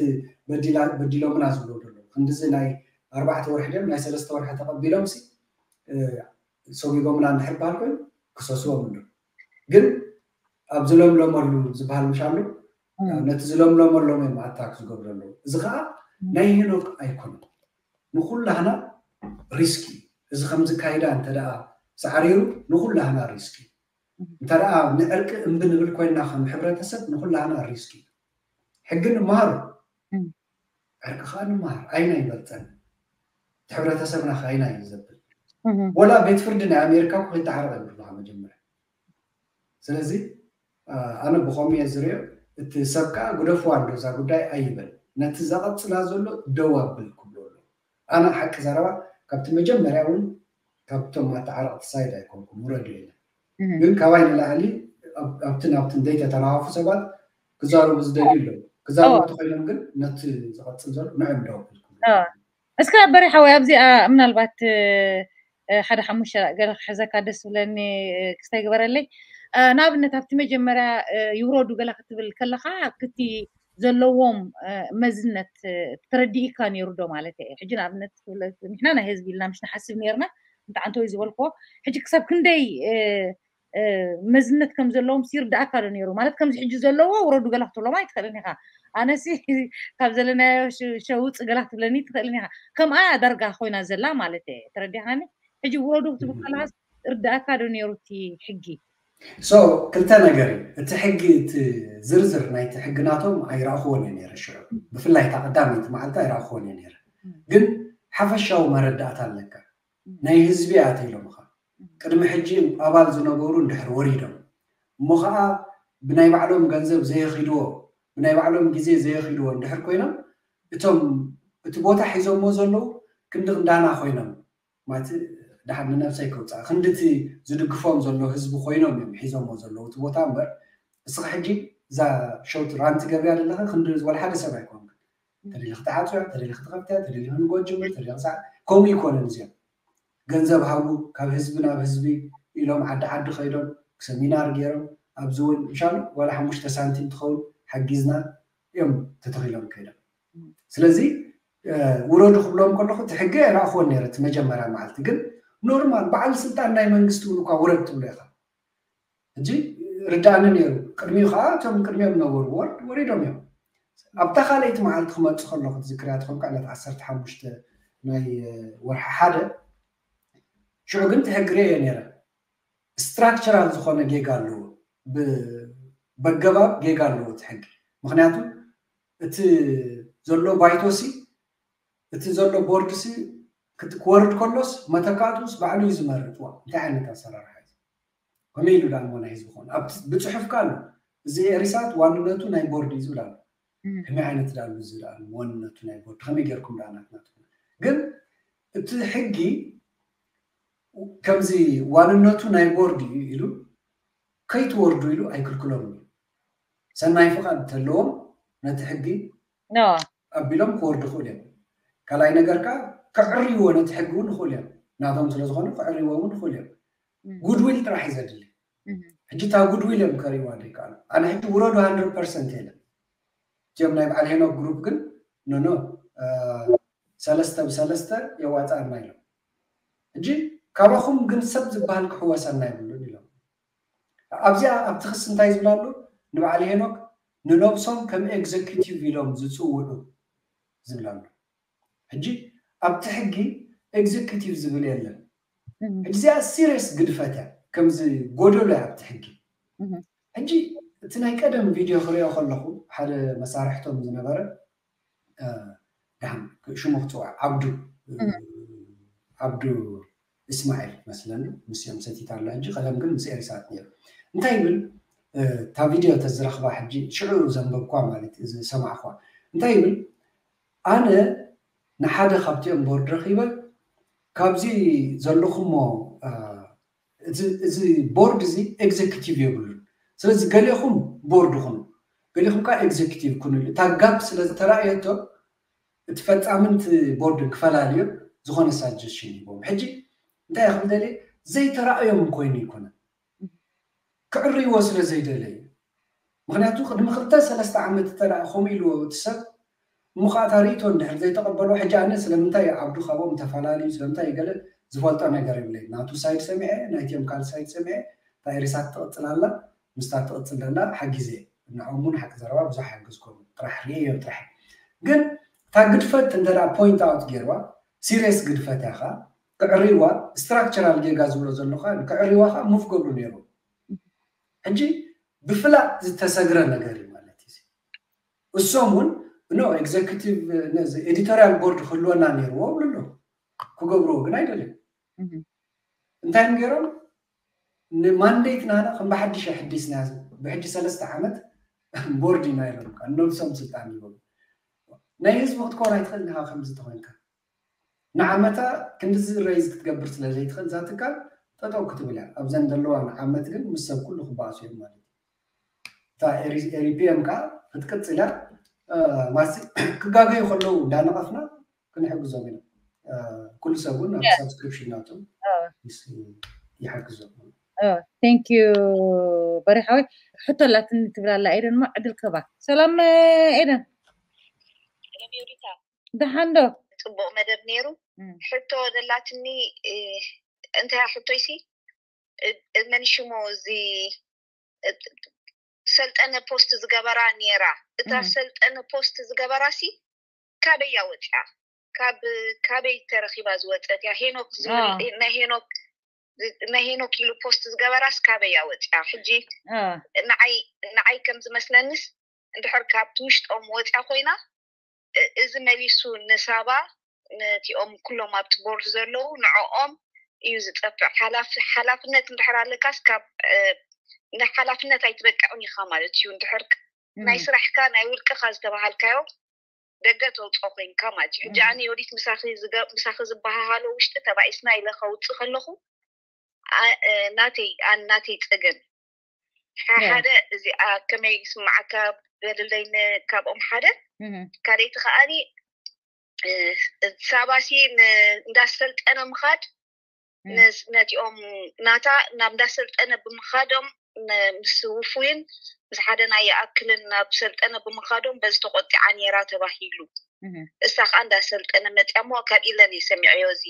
በዲሎምና ዝብሎ ዘሎ ክንድዚ ናይ ኣርባዕተ ወርሒ ድም ናይ ሰለስተ ወርሒ ተቐቢሎም ሲ ሰጉጎምና እንድሕር በሃል ኮይኑ ክሰስዎም ኣሎ ግን ኣብ ዝለምለመሉ ዝበሃል ምሽ ኣሎ ነቲ ዝለምለመሎም እዮም ኣታክ ዝገብሩ ኣለዉ እዚ ከዓ ናይ ሄኖክ ኣይኮነን ንኩላህና ሪስክ እዩ እዚ ከምዝካይዳ እንተ ሳዕሪሩ ንኩላህና ሪስክ እዩ እንተ ንዕርቂ እምቢ ንብል ኮይና ከም ሕብረተሰብ ንኩላህና ሪስክ እዩ ሕጊ ንምሃሮ ዕርቂ ከዓ ንምሃር ኣይና ይበልፀን እቲ ሕብረተሰብና ከዓ ኣይና እዩ ዘብል ወላ ቤት ፍርዲ ናይ ኣሜሪካ እኮ ከይተዓረቀ ይብሉካ መጀመርያ ስለዚ ኣነ ብኸምኡ እየ ዝሪኦ እቲ ሰብ ከዓ ግደፍዋ እንዶ እዛ ጉዳይ ኣይበል ነቲ ዘቐፅላ ዘሎ ደው ኣብል ክብሎ ኣሎ ኣነ ሓቂ ዘረባ ካብቲ መጀመርያ እውን ካብቶም ኣተዓረቕቲ ሳይድ ኣይኮንኩም ውረዱ ኢለ ግን ካባይ ንላዕሊ ኣብቲ ናብቲ ዘይተተናዋፉ ሰባት ክዛረቡ ዝደልዩ ኣለዉ ክዛረቡ ተኮይኖም ግን ነቲ ዝቐፅል ዘሎ ንዕም ደው ኣብል ክብሎ እስከ በሪ ሓወይ ኣብዚኣ ምናልባት ሓደ ሓሙሽተ ገለ ክሕዘካ ደስ ዝብለኒ ክስታይ ግበረለይ ንኣብነት ኣብቲ መጀመርያ ይውረዱ ገለ ክትብል ከለካ ክቲ ዘለዎም መዝነት ተረዲእካ ነይሩ ዶ ማለት እየ ሕጂ ንኣብነት ንሕና ናይ ህዝቢ ኢልና ምሽ ንሓስብ ነርና እንተዓንተወይ ዝበልክዎ ሕጂ ክሳብ ክንደይ መዝነት ከም ዘለዎም ይርዳእካ ዶ ነይሩ ማለት ከምዚ ሕጂ ዘለዎ ውረዱ ገላ ክትብሎም ኣይትኽእልን ኢኻ ኣነሲ ካብ ዘለናዮ ሸውፅ ገላ ክትብለኒ ትኽእልን ኢኻ ከምኣ ዳርጋ ኮይና ዘላ ማለት እየ ተረዲኻኒ ሕጂ ውረዱ ክትብል ከለሃስ እርዳእካ ዶ ነይሩ እቲ ሕጊ ሶ ክልተ ነገር እዩ እቲ ሕጊ እቲ ዝርዝር ናይቲ ሕጊ ናቶም ኣይረእኽዎን እየ ነይረ ሽዑ ብፍላይ እታ ቀዳመይቲ መዓልቲ ኣይረእኽዎን እየ ነይረ ግን ሓፈሻዊ መረዳእታ ኣለካ ናይ ህዝቢ እያ ተኢሎምኻ ቅድሚ ሕጂ ኣባል ዝነበሩ እንድሕር ወሪዶም እሞ ከዓ ብናይ ባዕሎም ገንዘብ ዘየኺድዎ ብናይ ባዕሎም ግዜ ዘየኺድዎ እንድሕር ኮይኖም እቶም እቲ ቦታ ሒዞሞ ዘለዉ ክንዲ ክንዳና ኮይኖም ማለት ድሓር ንነብሰይ ከውፅኣ ክንድቲ ዝድግፎም ዘሎ ህዝቢ ኮይኖም እዮም ሒዞሞ ዘለዉ እቲ ቦታ እምበር እስኻ ሕጂ እዛ ሸውት ራንቲ ገብርያ ዘለኻ ክንዲ ወላ ሓደ ሰብ ኣይኮንክን ተደሊ ክትዓፅያ ተደሊ ክትኸፍትያ ተደሊ ክንጎጅምር ተደሊ ክሳዕ ከምኡ ይኮነን እዚኦም ገንዘብ ሃቡ ካብ ህዝቢ ናብ ህዝቢ ኢሎም ዓዲ ዓዲ ከይዶም ሰሚናር ገይሮም ኣብዚ እውን ምሻሉ ዋላ ሓሙሽተ ሳንቲም ትኸውን ሓጊዝና እዮም ተተኺሎም ከይዶም ስለዚ ውረዱ ክብሎም ከለኹ እቲ ሕጊ ኣይረኣኽዎን ነይረ። እቲ መጀመርያ መዓልቲ ግን ኖርማል በዓል ስልጣን ናይ መንግስቲ እውን እኳ ውረድ ትብሎ ኢኻ። ሕጂ ርዳእኒ ነይሩ። ቅድሚኡ ከዓ እቶም ቅድሚኦም ነበሩ ወርድ ወሪዶም እዮም። ኣብታ ካልኣይቲ መዓልቲ ክመፁ ከለኹ ትዝክርያ ትኾንካ ዕለት ዓሰርተ ሓሙሽተ ናይ ወርሒ ሓደ ሽዑ ግን እቲ ሕጊ ርእየ ነይረ። ስትራክቸራል ዝኾነ ጌጋ ኣለዎ። በገባብ ጌጋ ኣለዎ እቲ ሕጊ። ምክንያቱ እቲ ዘሎ ባይቶሲ እቲ ዘሎ ቦርድሲ ክወርድ ከሎስ መተካእቱስ ባዕሉ እዩ ዝመርጥ። ዋ እንታይ ዓይነት ኣሰራርሓ እዩ? ከመይ ኢሉ ዳሞ ናይ ህዝቢ ኮን ኣብቲ ብፅሑፍ ካ ኣሎ እዚ ኤሪሳት ዋንነቱ ናይ ቦርድ እዩ ዝብል ኣሎ። ከመይ ዓይነት ዳሉ እዚ ዳ ዋንነቱ ናይ ቦርድ ከመይ ጌርኩም ዳ ናትና ግን እቲ ሕጊ ከምዚ ዋንነቱ ናይ ቦርድ እዩ ኢሉ ከይትወርዱ ኢሉ ኣይክልክሎም እዩ። ሰናይ ፍቓድ እንተለዎም ነቲ ሕጊ ኣቢሎም ክወርዱ ይኽእሉ እዮም። ካልኣይ ነገር ከዓ ክዕርይዎ ነቲ ሕጊ እውን ይኽእሉ እዮም። ናቶም ስለዝኾነ ክዕርይዎ እውን ይኽእሉ እዮም። ጉድዊል ጥራሕ እዩ ዘድሊ። ሕጂ እታ ጉድዊል እዮም ከርእይዋ ዘይከኣሉ። ኣነ ሕጂ ውረዱ ሃንድረድ ፐርሰንት የለን። እቲኦም ናይ በዓል ሄኖክ ግሩፕ ግን ኖኖ ሰለስተ ብሰለስተ የዋፅኣና ኢሎም። ሕጂ ካባኹም ግን ሰብ ዝበሃል ክሕወሰና የብሉን ኢሎም። ኣብዚኣ ኣብቲ ክሲ እንታይ ዝብላ ኣሎ? ንበዓል ሄኖክ ንነብሶም ከም ኤግዘኪቲቭ ኢሎም ዝፅውዑ ዝብላ ኣሎ። ሕጂ ኣብቲ ሕጊ ኤግዘኪቲቭ ዝብል የለን። ሕጂ እዚኣ ሲሪየስ ግድፈት እያ፣ ከምዚ ጎደሎ እያ ኣብቲ ሕጊ። ሕጂ እቲ ናይ ቀደም ቪድዮ ክሪኦ ከለኹ ሓደ መሳርሕቶም ዝነበረ ደሓን ሽሙ ክፅዋዕ ዓብዱ ዓብዱ እስማዒል መስለኒ ምስኦም ሰቲት ኣሎ። ሕጂ ቀደም ግን ምስ ኤሪሳት ነይሩ። እንታይ ይብል እታ ቪድዮ ተዝረኽባ ሕጂ ሽዑ ዘንበብኳ ማለት ዝሰማዕኳ እንታይ ይብል ኣነ ንሓደ ካብቲኦም ቦርድ ረኺበ ካብዚ ዘለኹሞ እዚ ቦርድ እዚ ኤግዜኪቲቭ የብሉን። ስለዚ ገሌኹም ቦርድ ኩኑ፣ ገሌኹም ከዓ ኤግዜኪቲቭ ኩኑ። እታ ጋፕ ስለ ዝተረኣየቶ እቲ ፈፃምን እቲ ቦርድን ክፈላልዮ ዝኾነ ሳጀሽን ሂቦም። ሕጂ እንታይ ክብል ደልየ ዘይተረኣዮም ኮይኑ ይኮነ ክዕርይዎ ስለ ዘይደለዩ። ምክንያቱ ቅድሚ ክልተ ሰለስተ ዓመት እተ ከምኡ ኢልዎ እቲ ሰብ እሞ ከዓ እታ ርእቶ እንድሕር ዘይተቐበሎ ሕጂ ኣነ ስለምንታይ ዓብዱ ካብኦም ተፈላለዩ ስለምንታይ ገለ ዝፈልጦ ነገር የብለይ። ናቱ ሳይድ ሰሚዐ ናይትዮም ካል ሳይድ ሰሚዐ እታ ኤሪሳት ትቕፅል ኣላ ምስታ ትቕፅል ደላ ሓጊዘ ንዕኦም እውን ሓቂ ዘረባ ብዙሕ ሓግዝኮም ጥራሕ ርእዮ ጥራሕ ግን እታ ግድፈት እንተ ፖይንት ኣውት ገይርዋ ሲሪየስ ግድፈት ያኻ ክዕርይዋ ስትራክቸራል ጌጋ ዝብሎ ዘለካ ክዕርይዋ ከዓ ሙፍ ገብሩ ነይሩ ሕጂ ብፍላጥ ዝተሰግረ ነገር እዩ ማለት እዩ። እሶም እውን ኖ ኤግዘኪቲቭ ነዚ ኤዲቶሪያል ቦርድ ክህልወና ነይርዎ ብሉ ኣለዉ ክገብርዎ ግን ኣይደልዩ እንታይ እዮም ገይሮም ንማንዴት ናና ከም ብሓድሽ ኣሕዲስና ብሕጂ ሰለስተ ዓመት ቦርድ ኢና ኢሎም ነብሶም ስልጣን ይበሉ ናይ ህዝቢ ክትኮን ኣይትኽእል ንካ ከምዚ ተኮይንካ ንዓመታ ክንድዚ ረይዝ ክትገብር ስለ ዘይትኽእል እዛ ትካል ጠጠው ክትብል እያ። ኣብዘን ዘለዋ ንዓመት ግን ምስ ሰብ ኩሉ ክበኣሱ እዮም ማለት እዩ። እታ ኤሪፒኤም ከዓ ክትቅፅል እያ። ማሲ ክጋገዩ ከለዉ እንዳነቐፍና ክንሕግዞም ኢና። ኩሉ ሰብ እውን ኣብ ሳብስክሪፕሽን ናቱ ይሓግዞም። ቴንክ ዩ በሪሓወይ ሕቶ ላትኒ ትብላላ ኤደን ማ ዕድል ከባ ሰላም ኤደን ደሓን ዶ ፅቡቅ መደብ ነይሩ ሕቶ ደላትኒ እንታይ ሕቶይሲ መን ሽሙ እዚ ሰልጠነ ፖስት ዝገበራ ነይራ እታ ሰልጠነ ፖስት ዝገበራ ሲ ካበያ ወፅያ ካብ ካበይ ተረኪባ ዝወፀት እያ ሄኖክ ዝብል ናይ ሄኖክ ናይ ሄኖክ ኢሉ ፖስት ዝገበራስ ካበይ ኣወፅያ ሕጂ ንዓይ ንዓይ ከም ዝመስለንስ እንድሕር ካብቲ ውሽጦም ወፅያ ኮይና እዚ መሊሱ ንሳባ ነቲኦም ኩሎም ኣብቲ ቦርድ ዘለዉ ንዕኦም እዩ ዝጠፍዕ ሓላፍነት እንድሕር ኣለካስ ካብ ንሓላፍነት ኣይትበቅዕን ኢካ ማለት እዩ እንድሕር ናይ ስራሕካ ናይ ውልቅካ ዝተባሃልካዮ ደገ ተውፅኦ ኮይንካ ማለት እዩ ሕጂ ኣነ የወዲት ምሳኺ ዝበሃሃሎ ውሽጢ ተባኢስና ኢለ ከውፅእ ከለኹ ናተይ ኣን ናተይ ፀገም ሓደ እዚኣ ከመይ ስማዓካ በልለይ ካብኦም ሓደ ካልይቲ ከዓኒ ሳባሲ እንዳሰልጠነ ምኻድ ነቲኦም ናታ ናብ እንዳሰልጠነ ብምኻዶም ምስ ውፉይን ምስ ሓደ ናይ ይኣክልን ናብ ሰልጠነ ብምኻዶም በዚ ተቆጢዓ ነይራ ተባሂሉ። እሳ ከዓ እንዳሰልጠነ መፅያ እሞ ካብ ኢለን እየ ሰሚዐዮ። እዚ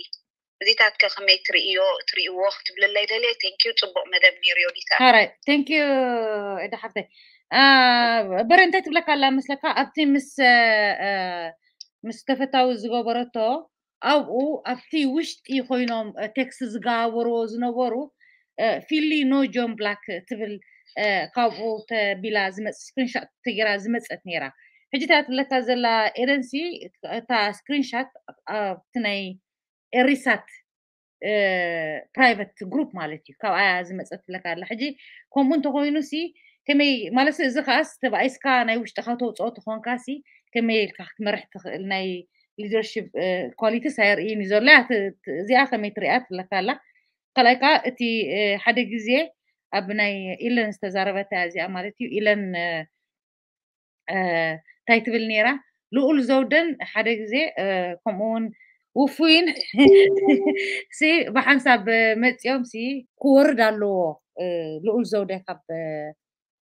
እዚታት ከ ከመይ ትርእዮ ትርእይዎ ክትብልለይ ደልየ። Thank you፣ ፅቡቅ መደብ ነይሩ ዮዲታ። Alright, thank you። እዳ ሓፍተይ በረ እንታይ ትብለካ ኣላ መስለካ? ኣብቲ ምስ ምስ ተፈታዊ ዝገበረቶ ኣብኡ ኣብቲ ውሽጢ ኮይኖም ቴክስት ዝገባበርዎ ዝነበሩ ፊሊ ኖ ጆን ብላክ ትብል ካብኡ ተቢላ ዝመፅ ስክሪንሻት ተጌራ ዝመፀት ነይራ። ሕጂ እታ ትብለካ ዘላ ኤደንሲ እታ ስክሪንሻት ኣብቲ ናይ ኤሪሳት ፕራይቨት ግሩፕ ማለት እዩ። ካብኣ ዝመፀት ትብለካ ኣላ። ሕጂ ከምኡ እንተኮይኑ ሲ ከመይ ማለት እዚ ከዓስ ተባኢስካ ናይ ውሽጥካ ተውፅኦ ተኮንካ ሲ ከመይ ኢልካ ክትመርሕ ትኽእል ናይ ሊደርሽፕ ኳሊቲስ ኣየርእይን እዩ ዘሎ። እዚኣ ከመይ ትሪኣ ትብለካ ኣላ። ካልኣይ ከዓ እቲ ሓደ ግዜ ኣብ ናይ ኢለን ዝተዛረበታ እዚኣ ማለት እዩ። ኢለን እንታይ ትብል ነይራ? ልኡል ዘውደን ሓደ ግዜ ከምኡ እውን ውፉይን ሲ ብሓንሳብ መፂኦም ሲ ክወርድ ኣለዎ ልኡል ዘውደ ካብ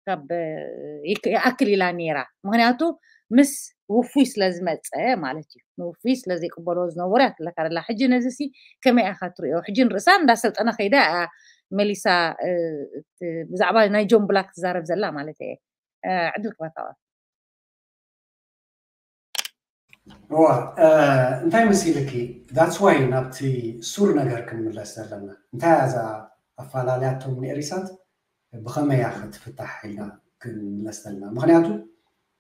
ካብ ይኣክል ኢላ ነይራ። ምክንያቱ ምስ ውፉይ ስለ ዝመፀ ማለት እዩ። ንውፉይ ስለ ዘይቅበልዎ ዝነበሩ እያ ትብለካ ዘላ። ሕጂ ነዚ ሲ ከመይ ኢኻ ትሪኦ? ሕጂ ንርእሳ እንዳሰልጠነ ከይዳ እያ መሊሳ ብዛዕባ ናይ ጆን ብላክ ትዛረብ ዘላ ማለት እየ። ዕድል ክበካ እዋ እንታይ መሲልኪ? That's why ናብቲ ሱር ነገር ክንምለስ ዘለና። እንታይ እያ እዛ ኣፈላለያቶም ንኤሪሳት ብኸመይ እያ ክትፍታሕ ኢልና ክንምለስ ዘለና። ምክንያቱ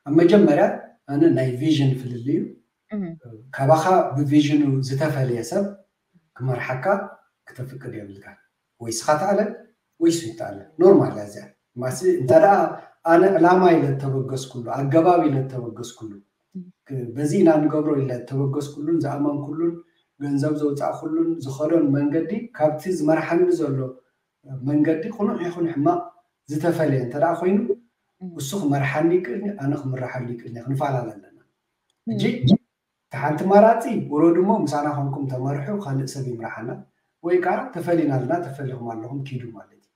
ኣብ መጀመርያ ኣነ ናይ ቪዥን ፍልልዩ ካባኻ ብቪዥኑ ዝተፈለየ ሰብ ክመርሓካ ክተፍቅድ የብልካ። ወይ ስኻ ተኣለ ወይ ሱ ይተኣለ። ኖርማል እያ እዚኣ። ማሲ እንተ ደኣ ኣነ ዕላማ ኢለ እተበገስኩሉ፣ ኣገባብ ኢለ እተበገስኩሉ፣ በዚ ኢና ንገብሮ ኢለ እተበገስኩሉን ዝኣመንኩሉን ገንዘብ ዘውፃእኩሉን ዝኸዶን መንገዲ ካብቲ ዝመርሓኒ ዘሎ መንገዲ ቅኑዕ ይኹን ሕማቕ ዝተፈለየ እንተ ደኣ ኮይኑ እሱ ክመርሓኒ ይክእልኒ፣ ኣነ ክምርሓሉ ይክእልኒ፣ ክንፈላለ ኣለና። ሕጂ እቲ ሓንቲ ማራፂ ውረዱ እሞ ምሳና ኮንኩም ተመርሑ ካልእ ሰብ ይምርሓና ወይ ከዓ ተፈሊና ኣለና ተፈሊኹም ኣለኹም ኪዱ ማለት እዩ።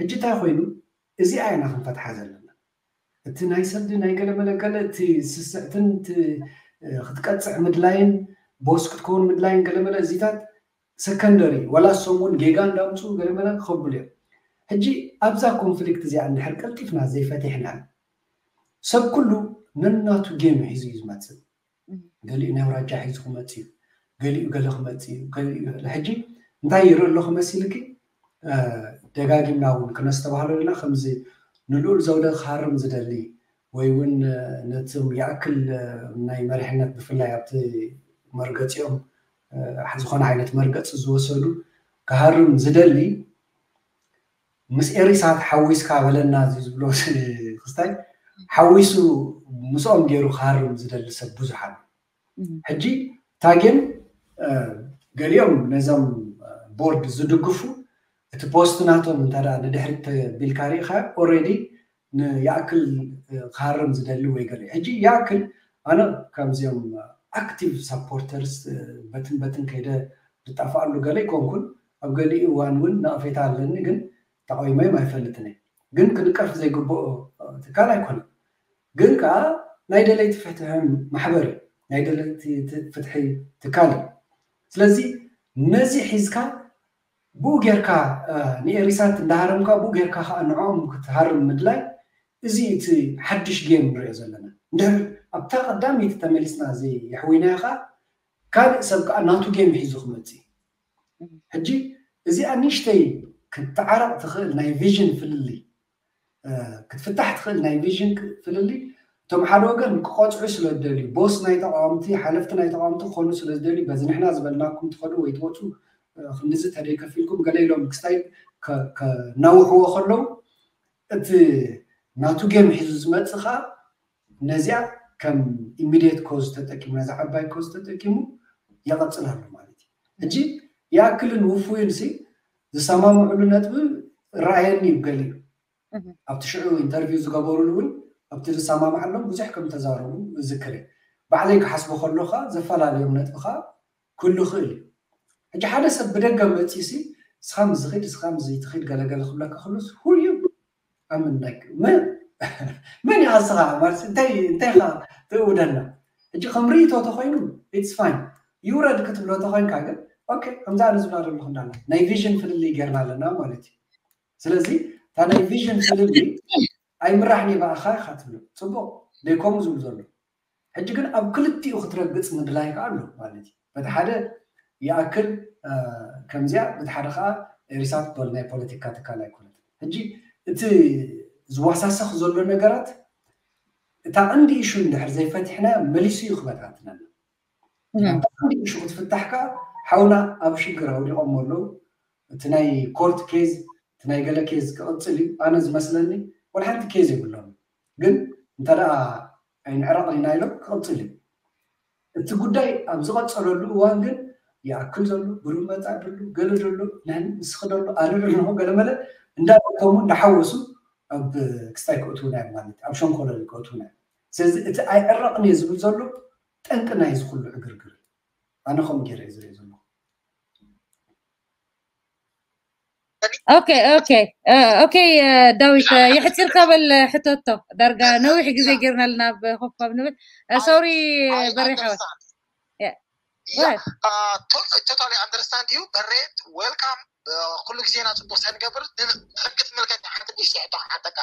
ሕጂ እንታይ ኮይኑ እዚኣ ኢና ክንፈትሓ ዘለና። እቲ ናይ ሰዲ ናይ ገለመለ ገለ እቲ ስስዕትን ክትቀፅዕ ምድላይን ቦስ ክትከውን ምድላይን ገለመለ እዚታት ሰከንደሪ ዋላ እሶም እውን ጌጋ እንዳምፅኡ ገለመለ ክኸብሉ እዮም። ሕጂ ኣብዛ ኮንፍሊክት እዚኣ እንድሕር ቀልጢፍና ዘይፈቲሕና ሰብ ኩሉ ነናቱ ጌም ሒዙ እዩ ዝመፅእ። ገሊኡ ናይ ኣውራጃ ሒዙ ክመፅእ እዩ፣ ገሊኡ ገለ ክመፅእ እዩ፣ ገሊኡ ገለ። ሕጂ እንታይ ይርኢ ኣለኹ መሲልኪ? ደጋጊምና እውን ክነስተባህሎ ኢና። ከምዚ ንልኡል ዘውደ ክሃርም ዝደሊ ወይ እውን ነቶም ይኣክል ናይ መሪሕነት ብፍላይ ኣብቲ መርገፂኦም ዝኾነ ዓይነት መርገፂ ዝወሰዱ ክሃርም ዝደሊ ምስ ኤሪሳት ሓዊስካ በለና እዚ ዝብሎ ክስታይ ሓዊሱ ምስኦም ገይሩ ክሃርም ዝደሊ ሰብ ብዙሓን። ሕጂ ታጌም ገሊኦም ነዞም ቦርድ ዝድግፉ እቲ ፖስት ናቶም እንተ ንድሕሪት ተቢልካ ርኢኻ ኦልሬዲ ንይኣክል ክሃርም ዝደሊ ወይ ገለ ሕጂ ይኣክል ኣነ ከምዚኦም ኣክቲቭ ሳፖርተርስ በትን በትን ከይደ ዝጣፍኣሉ ገለ ይኮንኩን ኣብ ገሊኡ እዋን እውን ነቐፌታ ኣለኒ ግን ተቃዊመዮም ኣይፈልጥን እየ ግን ክንቀፍ ዘይግብኦ ትካል ኣይኮነን ግን ከዓ ናይ ደለይቲ ፍትሒ ማሕበር እዩ ናይ ደለይቲ ፍትሒ ትካል እዩ ስለዚ ነዚ ሒዝካ ብኡ ጌርካ ንኤሪሳት እንዳሃረምካ ብኡ ጌርካ ከዓ ንዕኦም ክትሃርም ምድላይ እዚ እቲ ሓድሽ ጌም ንሪኦ ዘለና እንድሕር ኣብታ ቀዳመይቲ ተመሊስና እዚ የሕዊናዮ ከዓ ካልእ ሰብ ከዓ ናቱ ጌም ሒዙ ክመፅእ ሕጂ እዚኣ ንሽተይ ክትዓረቕ ትኽእል ናይ ቪዥን ፍልልይ ክትፍታሕ ትኽእል ናይ ቪዥን ፍልልይ እቶም ሓደ ወገን ክቆፅዑ ስለ ዝደልዩ ቦስ ናይ ተቃወምቲ ሓለፍቲ ናይ ተቃወምቲ ክኾኑ ስለ ዝደልዩ በዚ ንሕና ዝበልናኩም ትኸዱ ወይ ትወፁ ክንድዚ ተደይከፊልኩም ገለ ኢሎም ክስታይ ከናውሕዎ ከለዉ እቲ ናቱ ጌም ሒዙ ዝመፅእ ከዓ ነዚኣ ከም ኢሚድየት ኮዝ ተጠቂሙ ነዚ ዓባይ ኮዝ ተጠቂሙ የቐፅል ኣሎ ማለት እዩ ሕጂ ይኣክልን ውፉይን ሲ ዝሰማምዕሉ ነጥቢ ረኣየኒ እዩ ገሊኡ ኣብቲ ሽዑ ኢንተርቪው ዝገበሩሉ እውን ኣብቲ ዝሰማማዓሎም ብዙሕ ከም ተዛረቡ ዝክር ባዕለይ ክሓስቦ ከሎካ ዘፈላለዮም ነጥብካ ክህሉ ክእል እዩ ሕጂ ሓደ ሰብ ብደገ መፂሲ ስኻ ምዝኽድ ስኻ ምዝይትኽድ ገለገለ ክብለካ ክሉስ ሁሉ ኣምን ላይክ መን መን ኢኻ ንስኻ ማለት እንታይ እንታይ ኢኻ ትእውደና? ሕጂ ከም ርእይቶ ተኾይኑ it's fine ይውረድ ክትብሎ ተኾይንካ ግን okay ከምዛ ኣነ ዝብላ ዘለኹ እንዳለ ናይ ቪዥን ፍልልይ ጌርና ኣለና ማለት እዩ። ስለዚ እታ ናይ ቪዥን ፍልልይ ኣይምራሕን እየ ብኣኻ ኢኻ ትብሎ። ፅቡቕ ደይከምኡ ዝብሉ ዘሎ ሕጂ ግን ኣብ ክልቲኡ ክትረግፅ ምድላይ ከዓ ኣሎ ማለት እዩ። በቲ ሓደ ይኣክል ከምዚኣ በቲ ሓደ ከዓ ኤሪሳት ዶል ናይ ፖለቲካ ትካል ኣይኮነት። ሕጂ እቲ ዝዋሳሰኽ ዘሎ ነገራት እታ ቀንዲ ኢሹ እንድሕር ዘይፈቲሕና መሊሱ እዩ ክበታትነና። እታ ቀንዲ ኢሹ ክትፍታሕ ከዓ ሓውና ኣብ ሽግር ኣውዲቖሞ ኣለዉ። እቲ ናይ ኮርት ኬዝ እቲ ናይ ገለ ኬዝ ክቕፅል እዩ። ኣነ ዝመስለኒ ወላ ሓንቲ ኬዝ የብሎም ግን እንተ ደኣ ኣይንዕረቕ ኢና ኢሎም ክቕፅል እዩ። እቲ ጉዳይ ኣብ ዝቐፀለሉ እዋን ግን ይኣክል ዘሎ ብሩህ መፃእ ደሎ ገለ ደሎ ናይ ንስኺ ደሎ ኣነ ደሎ ገለ መለ እንዳደከሙ እንዳሓወሱ ኣብ ክስታይ ክእትውና እዮም ማለት ኣብ ሸንኮለል ክእትውና እዮም። ስለዚ እቲ ኣይዕረቕን እየ ዝብል ዘሎ ጠንቂ ናይ እዚ ኩሉ ዕግርግር ኣነ ከምኡ ገይረ እየ ዝርኢ ዘለኹ። ኦኬ ኦኬ ኦኬ ዳዊት የሕፂርካ በል ሕተቶ ዳርጋ ነዊሕ ግዜ ጌርና ኣለና ኣብ ኮፋብ ንብል ሶሪ በሪሓወት totally understand you በሬት welcome። ኩሉ ግዜና ፅቡቅ ሰንገብር ሕቂ ትምልከት ሓንቲ ንሽቲ ሕቶ ሓተካ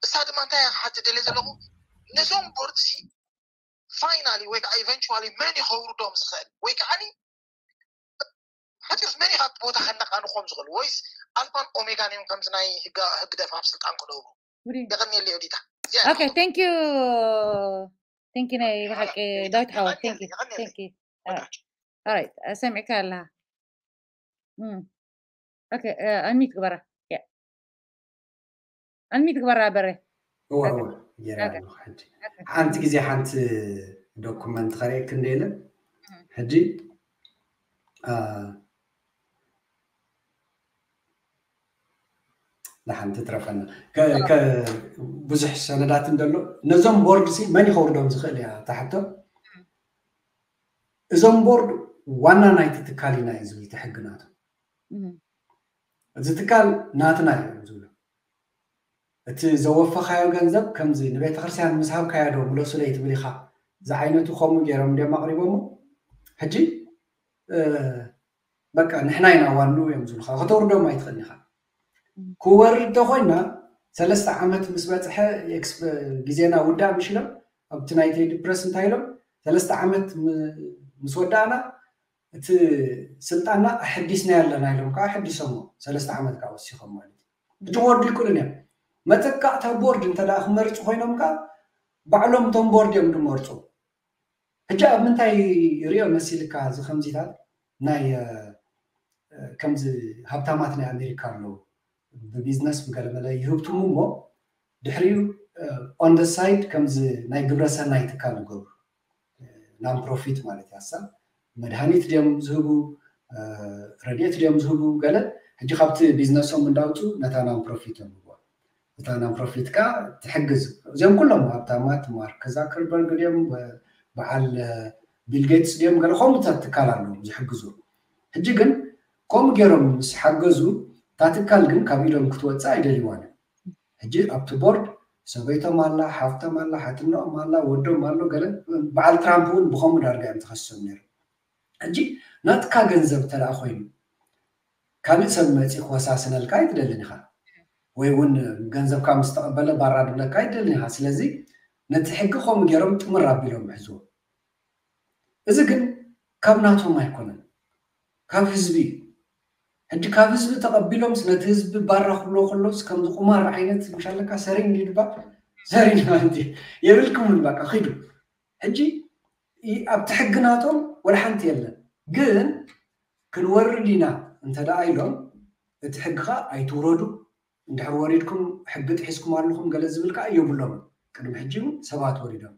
እሳ ድማ እንታይ ሓቲ ደልየ ዘለኹ ነዞም ቦርድ ሲ finally ወይ ከዓ eventually መን ይኸውርዶም ዝኽእል ወይ ከዓ ሓፂርስ መን ኢኻ እቲ ቦታ ከነቃንኾም ዝኽእል ወይስ ኣልፋን ኦሜጋን እዮም ከምዚ ናይ ህግደፍ ኣብ ስልጣን ክነብሩ? የቐንየለይ ኦዲታ። Okay, thank you. Thank you ናይ ብሓቂ ዳዊት ሓወት thank you. Thank you. All right. ሰሚዕካ ኣለኻ? Okay, unmute ግበራ. Unmute ግበራ በረ። እወ እወ ገይረ ኣለኹ። ሕጂ ሓንቲ ግዜ ሓንቲ ዶኩመንት ከርእየክ እንደ ኢለ ሕጂ ንሓንቲ ትረፈና ብዙሕ ሰነዳት እንደሎ ነዞም ቦርድ ሲ መን ይኸውርዶም ዝኽእል እያ ታሕቶ እዞም ቦርድ ዋና ናይቲ ትካል ኢና እዩ ዝብል እቲ ሕጊ ናቶም እዚ ትካል ናትና እዩ ዝብሉ እቲ ዘወፈኻዮ ገንዘብ ከምዚ ንቤተክርስትያን ምስ ሃብካዮ ዶ ምለሱለይ ትብል ኢኻ ዝዓይነቱ ከምኡ ገይሮም እንዲዮም ኣቕሪቦሞ ሕጂ በቃ ንሕና ኢና ዋንኡ እዮም ዝብሉካ ከተውርዶም ኣይትኽእል ኢኻ ክወርድ ተኮይና ሰለስተ ዓመት ምስ በፅሐ ግዜና ውዳእ ምሽ ኢሎም ኣብቲ ናይ ቴዲ ፕረስ እንታይ ኢሎም ሰለስተ ዓመት ምስ ወዳእና እቲ ስልጣንና ኣሐዲስና ኣለና ኢሎም ከዓ ኣሐዲሶሞ ሰለስተ ዓመት ከዓ ወሲኾም ማለት እዩ ሕጂ ክወርዱ ይክእሉን እዮም መተካእታ ቦርድ እንተ ክመርፁ ኮይኖም ከዓ ባዕሎም እቶም ቦርድ እዮም ዝመርፁ ሕጂ ኣብ ምንታይ ሪኦ መሲልካ እዚ ከምዚታት ናይ ከምዚ ሃብታማት ናይ ኣሜሪካ ኣለዉ ብቢዝነስ ብገለመለ ይህብትሙ እሞ ድሕሪኡ on the side ከምዚ ናይ ግብረ ሰናይ ትካል ዝገብሩ non profit ማለት እያ እሳ መድሃኒት ድዮም ዝህቡ ረድኤት ድዮም ዝህቡ ገለ ሕጂ ካብቲ ቢዝነሶም እንዳውፁ ነታ non profit እዮም ዝህብዋ እታ non profit ከዓ ትሕግዝ እዚኦም ኩሎም ሃብታማት ማርክ ዛከርበርግ ድዮም በዓል ቢል ጌትስ ድዮም ገለ ከምኡታት ትካል ኣለዎም ዝሕግዙ ሕጂ ግን ከምኡ ገይሮም ምስ ሓገዙ እታ ትካል ግን ካብ ኢዶም ክትወፅእ ኣይደልይዋን ሕጂ ኣብቲ ቦርድ ሰበይቶም ኣላ ሓፍቶም ኣላ ሓትኖኦም ኣላ ወዶም ኣሎ ገለ በዓል ትራምፕ እውን ብከምኡ ዳርጋ እዮም ተኸሶም ነይሩ ሕጂ ናትካ ገንዘብ ተደኣ ኮይኑ ካልእ ሰብ መፂ ክወሳስነልካ ኣይትደልን ኢኻ ወይ እውን ገንዘብካ ምስ ተቐበለ ባራ ድብለካ ኣይትደልን ኢኻ ስለዚ ነቲ ሕጊ ከምኡ ገይሮም ጥምር ኣቢሎም ይሕዝዎ እዚ ግን ካብ ናቶም ኣይኮነን ካብ ህዝቢ እዩ ሕጂ ካብ ህዝቢ ተቐቢሎምስ ነቲ ህዝቢ ባራ ክብሎ ከሎስ ከምዚ ቁማር ዓይነት ምሻለካ ሰሪን ድባ ሰሪን ማለት እዩ የብልክምን በቃ ኪዱ ሕጂ ኣብቲ ሕጊ ናቶም ወላ ሓንቲ የለን ግን ክንወርድ ኢና እንተ ደኣ ኢሎም እቲ ሕጊ ከዓ ኣይትውረዱ እንድሕር ወሪድኩም ሕጊ ጥሒስኩም ኣለኹም ገለ ዝብል ከዓ የብሎም ቅድሚ ሕጂ እውን ሰባት ወሪዶም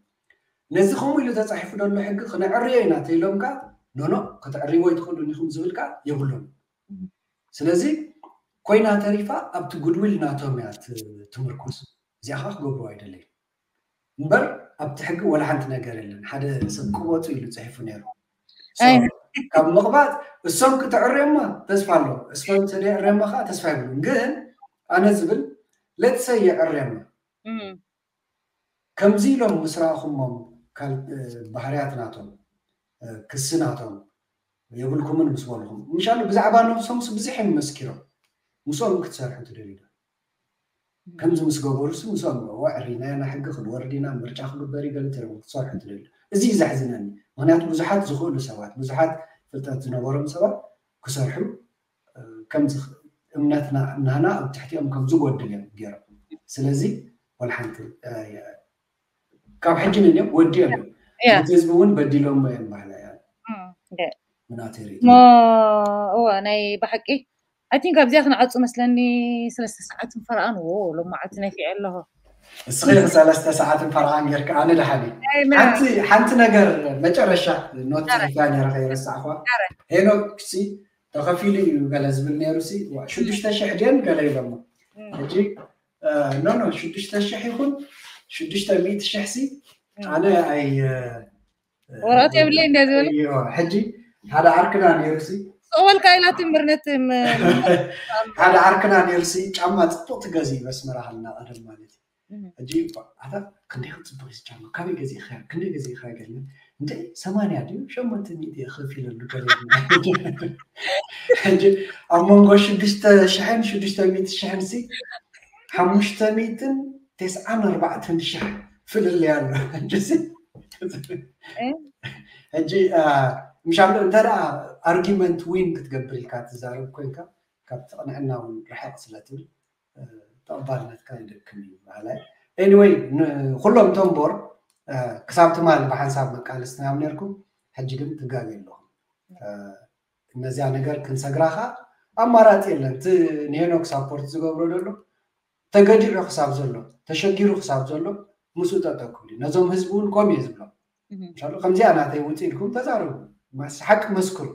ነዚ ከምኡ ኢሉ ተፃሒፉ ዘሎ ሕጊ ክነዕርዮ ኢና ተኢሎም ከዓ ኖኖ ከተዕርይዎ ኣይትኽእሉን ኢኹም ዝብል ከዓ የብሎም ስለዚ ኮይና ተሪፋ ኣብቲ ጉድዊል ናቶም እያ ትምርኮስ እዚኣ ከዓ ክገብሩ ኣይደለዩ እምበር ኣብቲ ሕጊ ወላ ሓንቲ ነገር የለን ሓደ ሰብ ቅበፁ ኢሉ ፅሒፉ ነይሩ ካብ ምቕባፅ እሶም ክተዕርዮማ ተስፋ ኣሎ እሶም ተደዕርዮማ ከዓ ተስፋ ይብሉ ግን ኣነ ዝብል let's say የዕርየና ከምዚ ኢሎም ምስ ረኣኹሞም ባህርያት ናቶም ክሲ ናቶም የብልኩምን ምስ በልኹም ምሻሉ ብዛዕባ ነብሶም ብዙሕ እዮም መስኪሮም ምስኦም ክትሰርሑ ትደልዩ ከምዚ ምስ ገበሩ ሲ ምስኦም ወዕሪና ኢና ሕጊ ክንወርድ ኢና ምርጫ ክግበር ይገለ ትረቡ ክትሰርሑ ትደልዩ እዚ እዩ ዘሕዝነኒ ምክንያቱ ብዙሓት ዝኽእሉ ሰባት ብዙሓት ፍልጠት ዝነበሮም ሰባት ክሰርሑ ከምዚ እምነትና እምናና ኣብ ትሕቲኦም ከም ዝጎድል እዮም ገይሮም ስለዚ ወላ ሓንቲ ካብ ሕጂ ንንዮም ወዲኦም እዮም እቲ ህዝቢ እውን በዲሎም እዮም ባህላ እያ ምናተሪ እወ ናይ ብሓቂ I think ኣብዚኣ ክንዓፁ መስለኒ ሰለስተ ሰዓትን ፈረቓን ዎ ሎማዓቲ ነፊዐ ኣለኹ እስኺ ሰለስተ ሰዓትን ፈረቓን ጌርካ ኣነ ደሓኒ ሓንቲ ነገር መጨረሻ ኖት ያ ነረ ከይረሳዕኳ ሄኖክ ሲ ተኸፊሉ እዩ ገለ ዝብል ነይሩ ሲ ሽዱሽተ ሽሕ ድየን ገለ ኢሎሞ ሕጂ ኖ ኖ ሽዱሽተ ሽሕ ይኹን ሽዱሽተ ሚእቲ ሽሕ ሲ ኣነ ኣይ ወረቐት የብለይ እንደ ዝብል ሕጂ ሓደ ዓርክና ነይሩ ሲ ጸወልካ ኢላ ትምህርነት ሓደ ዓርክና ነይሩ ሲ ጫማ ጽቡቅ ትገዚ በስመራ ሃልና ቀደም ማለት እዩ ሕጂ ኣታ ክንደይ ክጽቡቅ እዩ ጫማ ካበይ ገዚእካ ክንደይ ገዚእካ ገለ እንደ ሰማንያ ድዩ ሸሞንተ ሚእቲ ከፊለሉ ገለ ሕጂ ኣብ መንጎ ሽዱሽተ ሽሕን ሽዱሽተ ሚእቲ ሽሕን ሲ ሓሙሽተ ሚእትን ተስዓን ኣርባዕተን ሽሕ ፍልልይ ኣሎ ሕጂ ሕጂ ምሻሎ እንተ ደኣ ኣርጊመንት ዊን ክትገብር ኢልካ ትዛረብ ኮንካ ካብ ትቕንዕና እውን ርሕቕ ስለ ትብል ተቐባልነትካ ይደክም እዩ በሃላይ anyway ንኩሎም ቶም ቦር ክሳብ ትማሊ ብሓንሳብ መቃለስትና እዮም ነርኩም ሕጂ ግን ትጋገ ኣለኹም እነዚያ ነገር ክንሰግራ ከዓ ኣማራፂ የለን እቲ ንሄኖክ ሳፖርት ዝገብሮ ዘሎ ተገዲዑ ክሳብ ዘሎ ተሸጊሩ ክሳብ ዘሎ ምስኡ ጠጠው ክብል እዩ ነዞም ህዝቢ እውን ኮም እየ ዝብሎም ከምዚኣ ናተይ ውፅእ ኢልኩም ተዛረቡ ሓቂ መስክሩ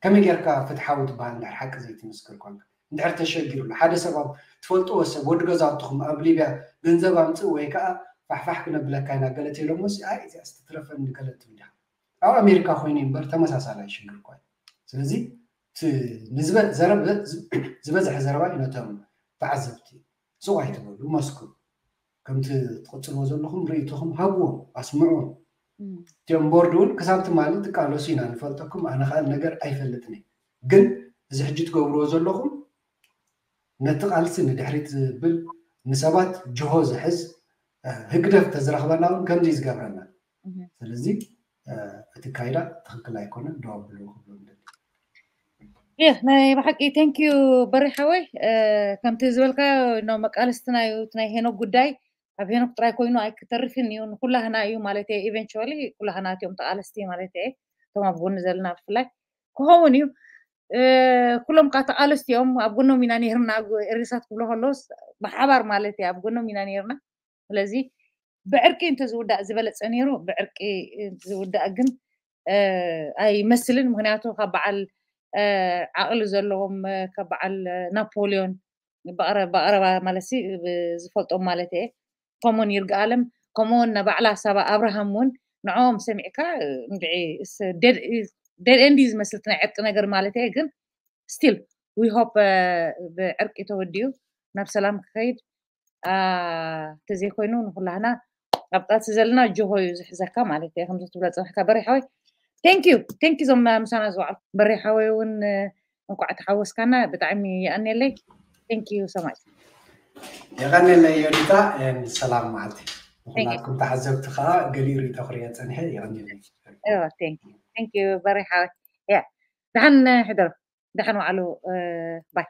ከመይ ጌርካ ፍትሓዊ ትበሃል እንድሕር ሓቂ ዘይትምስክር ኮንካ እንድሕር ተሸጊሩሉ ሓደ ሰብ ኣብ ትፈልጥዎ ሰብ ወዲ ገዛውትኹም ኣብ ሊብያ ገንዘብ ኣምፅእ ወይ ከዓ ፋሕፋሕ ክነብለካ ኢና ገለ ተይሎሞ ኣይ እዚኣ ስትትረፈኒ ገለ ትብል ዲኻ ኣብ ኣሜሪካ ኮይኑ እምበር ተመሳሳላይ ሽግር እኳ እዩ ስለዚ ዘረብ ዝበዝሐ ዘረባ እዩ ነቶም ተዓዘብቲ ስቕ ኣይትበሉ መስክሩ ከምቲ ትቕፅልዎ ዘለኹም ርእይቶኹም ሃብዎም ኣስምዕዎም እቲኦም ቦርድ እውን ክሳብ ትማሊ ትቃለሱ ኢና ንፈልጠኩም ኣነ ከዓ ነገር ኣይፈልጥን ግን እዚ ሕጂ ትገብርዎ ዘለኹም ነቲ ቃልሲ ንድሕሪት ዝብል ንሰባት ጅሆ ዝሕዝ ህግደፍ ተዝረኽበና እውን ከምዚ ዝገብረና ስለዚ እቲ ካይዳ ትኽክል ኣይኮነን ደው ኣብሉ ክብሎ ይህ ናይ ብሓቂ thank you በሪሓወይ ከምቲ ዝበልካ ኖ መቃለስትና እዩ ናይ ሄኖክ ጉዳይ ኣብ ሄኖክ ጥራይ ኮይኑ ኣይክተርፍን እዩ ንኩላህና እዩ ማለት እየ eventually ኩላህና እቲኦም ተቃለስቲ ማለት እየ እቶም ኣብ ጎኒ ዘለና ብፍላይ ክኸውን እዩ ኩሎም ከዓ ተቃለስቲ እዮም ኣብ ጎኖም ኢና ነርና ኤሪሳት ክብሎ ከለስ ብሓባር ማለት እየ ኣብ ጎኖም ኢና ነርና ስለዚ ብዕርቂ እንተዝውዳእ ዝበለፀ ነይሩ ብዕርቂ ዝውዳእ ግን ኣይመስልን ምክንያቱ ካብ በዓል ዓቕሊ ዘለዎም ካብ በዓል ናፖሊዮን ብቐረባ ማለት ዝፈልጦም ማለት እየ ከምኡውን ይርግኣለም ከምኡውን ባዕላ ሳባ ኣብርሃም እውን ንዕኦም ሰሚዕካ እንድዒ dead end ዝመስል ናይ ዕርቂ ነገር ማለት እየ ግን still we hope ብዕርቂ ተወዲኡ ናብ ሰላም ክኸይድ ተዘይኮይኑ ንኩላህና ኣብ ቃልሲ ዘለና ጅሆ እዩ ዝሕዘካ ማለት እየ ከምዚ ትብሎ ፅናሕካ በሪሓወይ thank you thank you ዞም ምሳና ዝወዓሉ በሪሓወይ እውን እንኳዕ ተሓወስካና ብጣዕሚ ይኣንየለይ thank you so much የቐንየለይ ዮዲታ ሰላም መዓልቲ ንኩላትኩም ተዓዘብቲ ከዓ ገሊኡ ርእቶ ክርእዮ ፀኒሐ የቐንየለይ thank you በሪሓወይ ያ ደሓን ሕደሩ ደሓን ዋዕሉ ባይ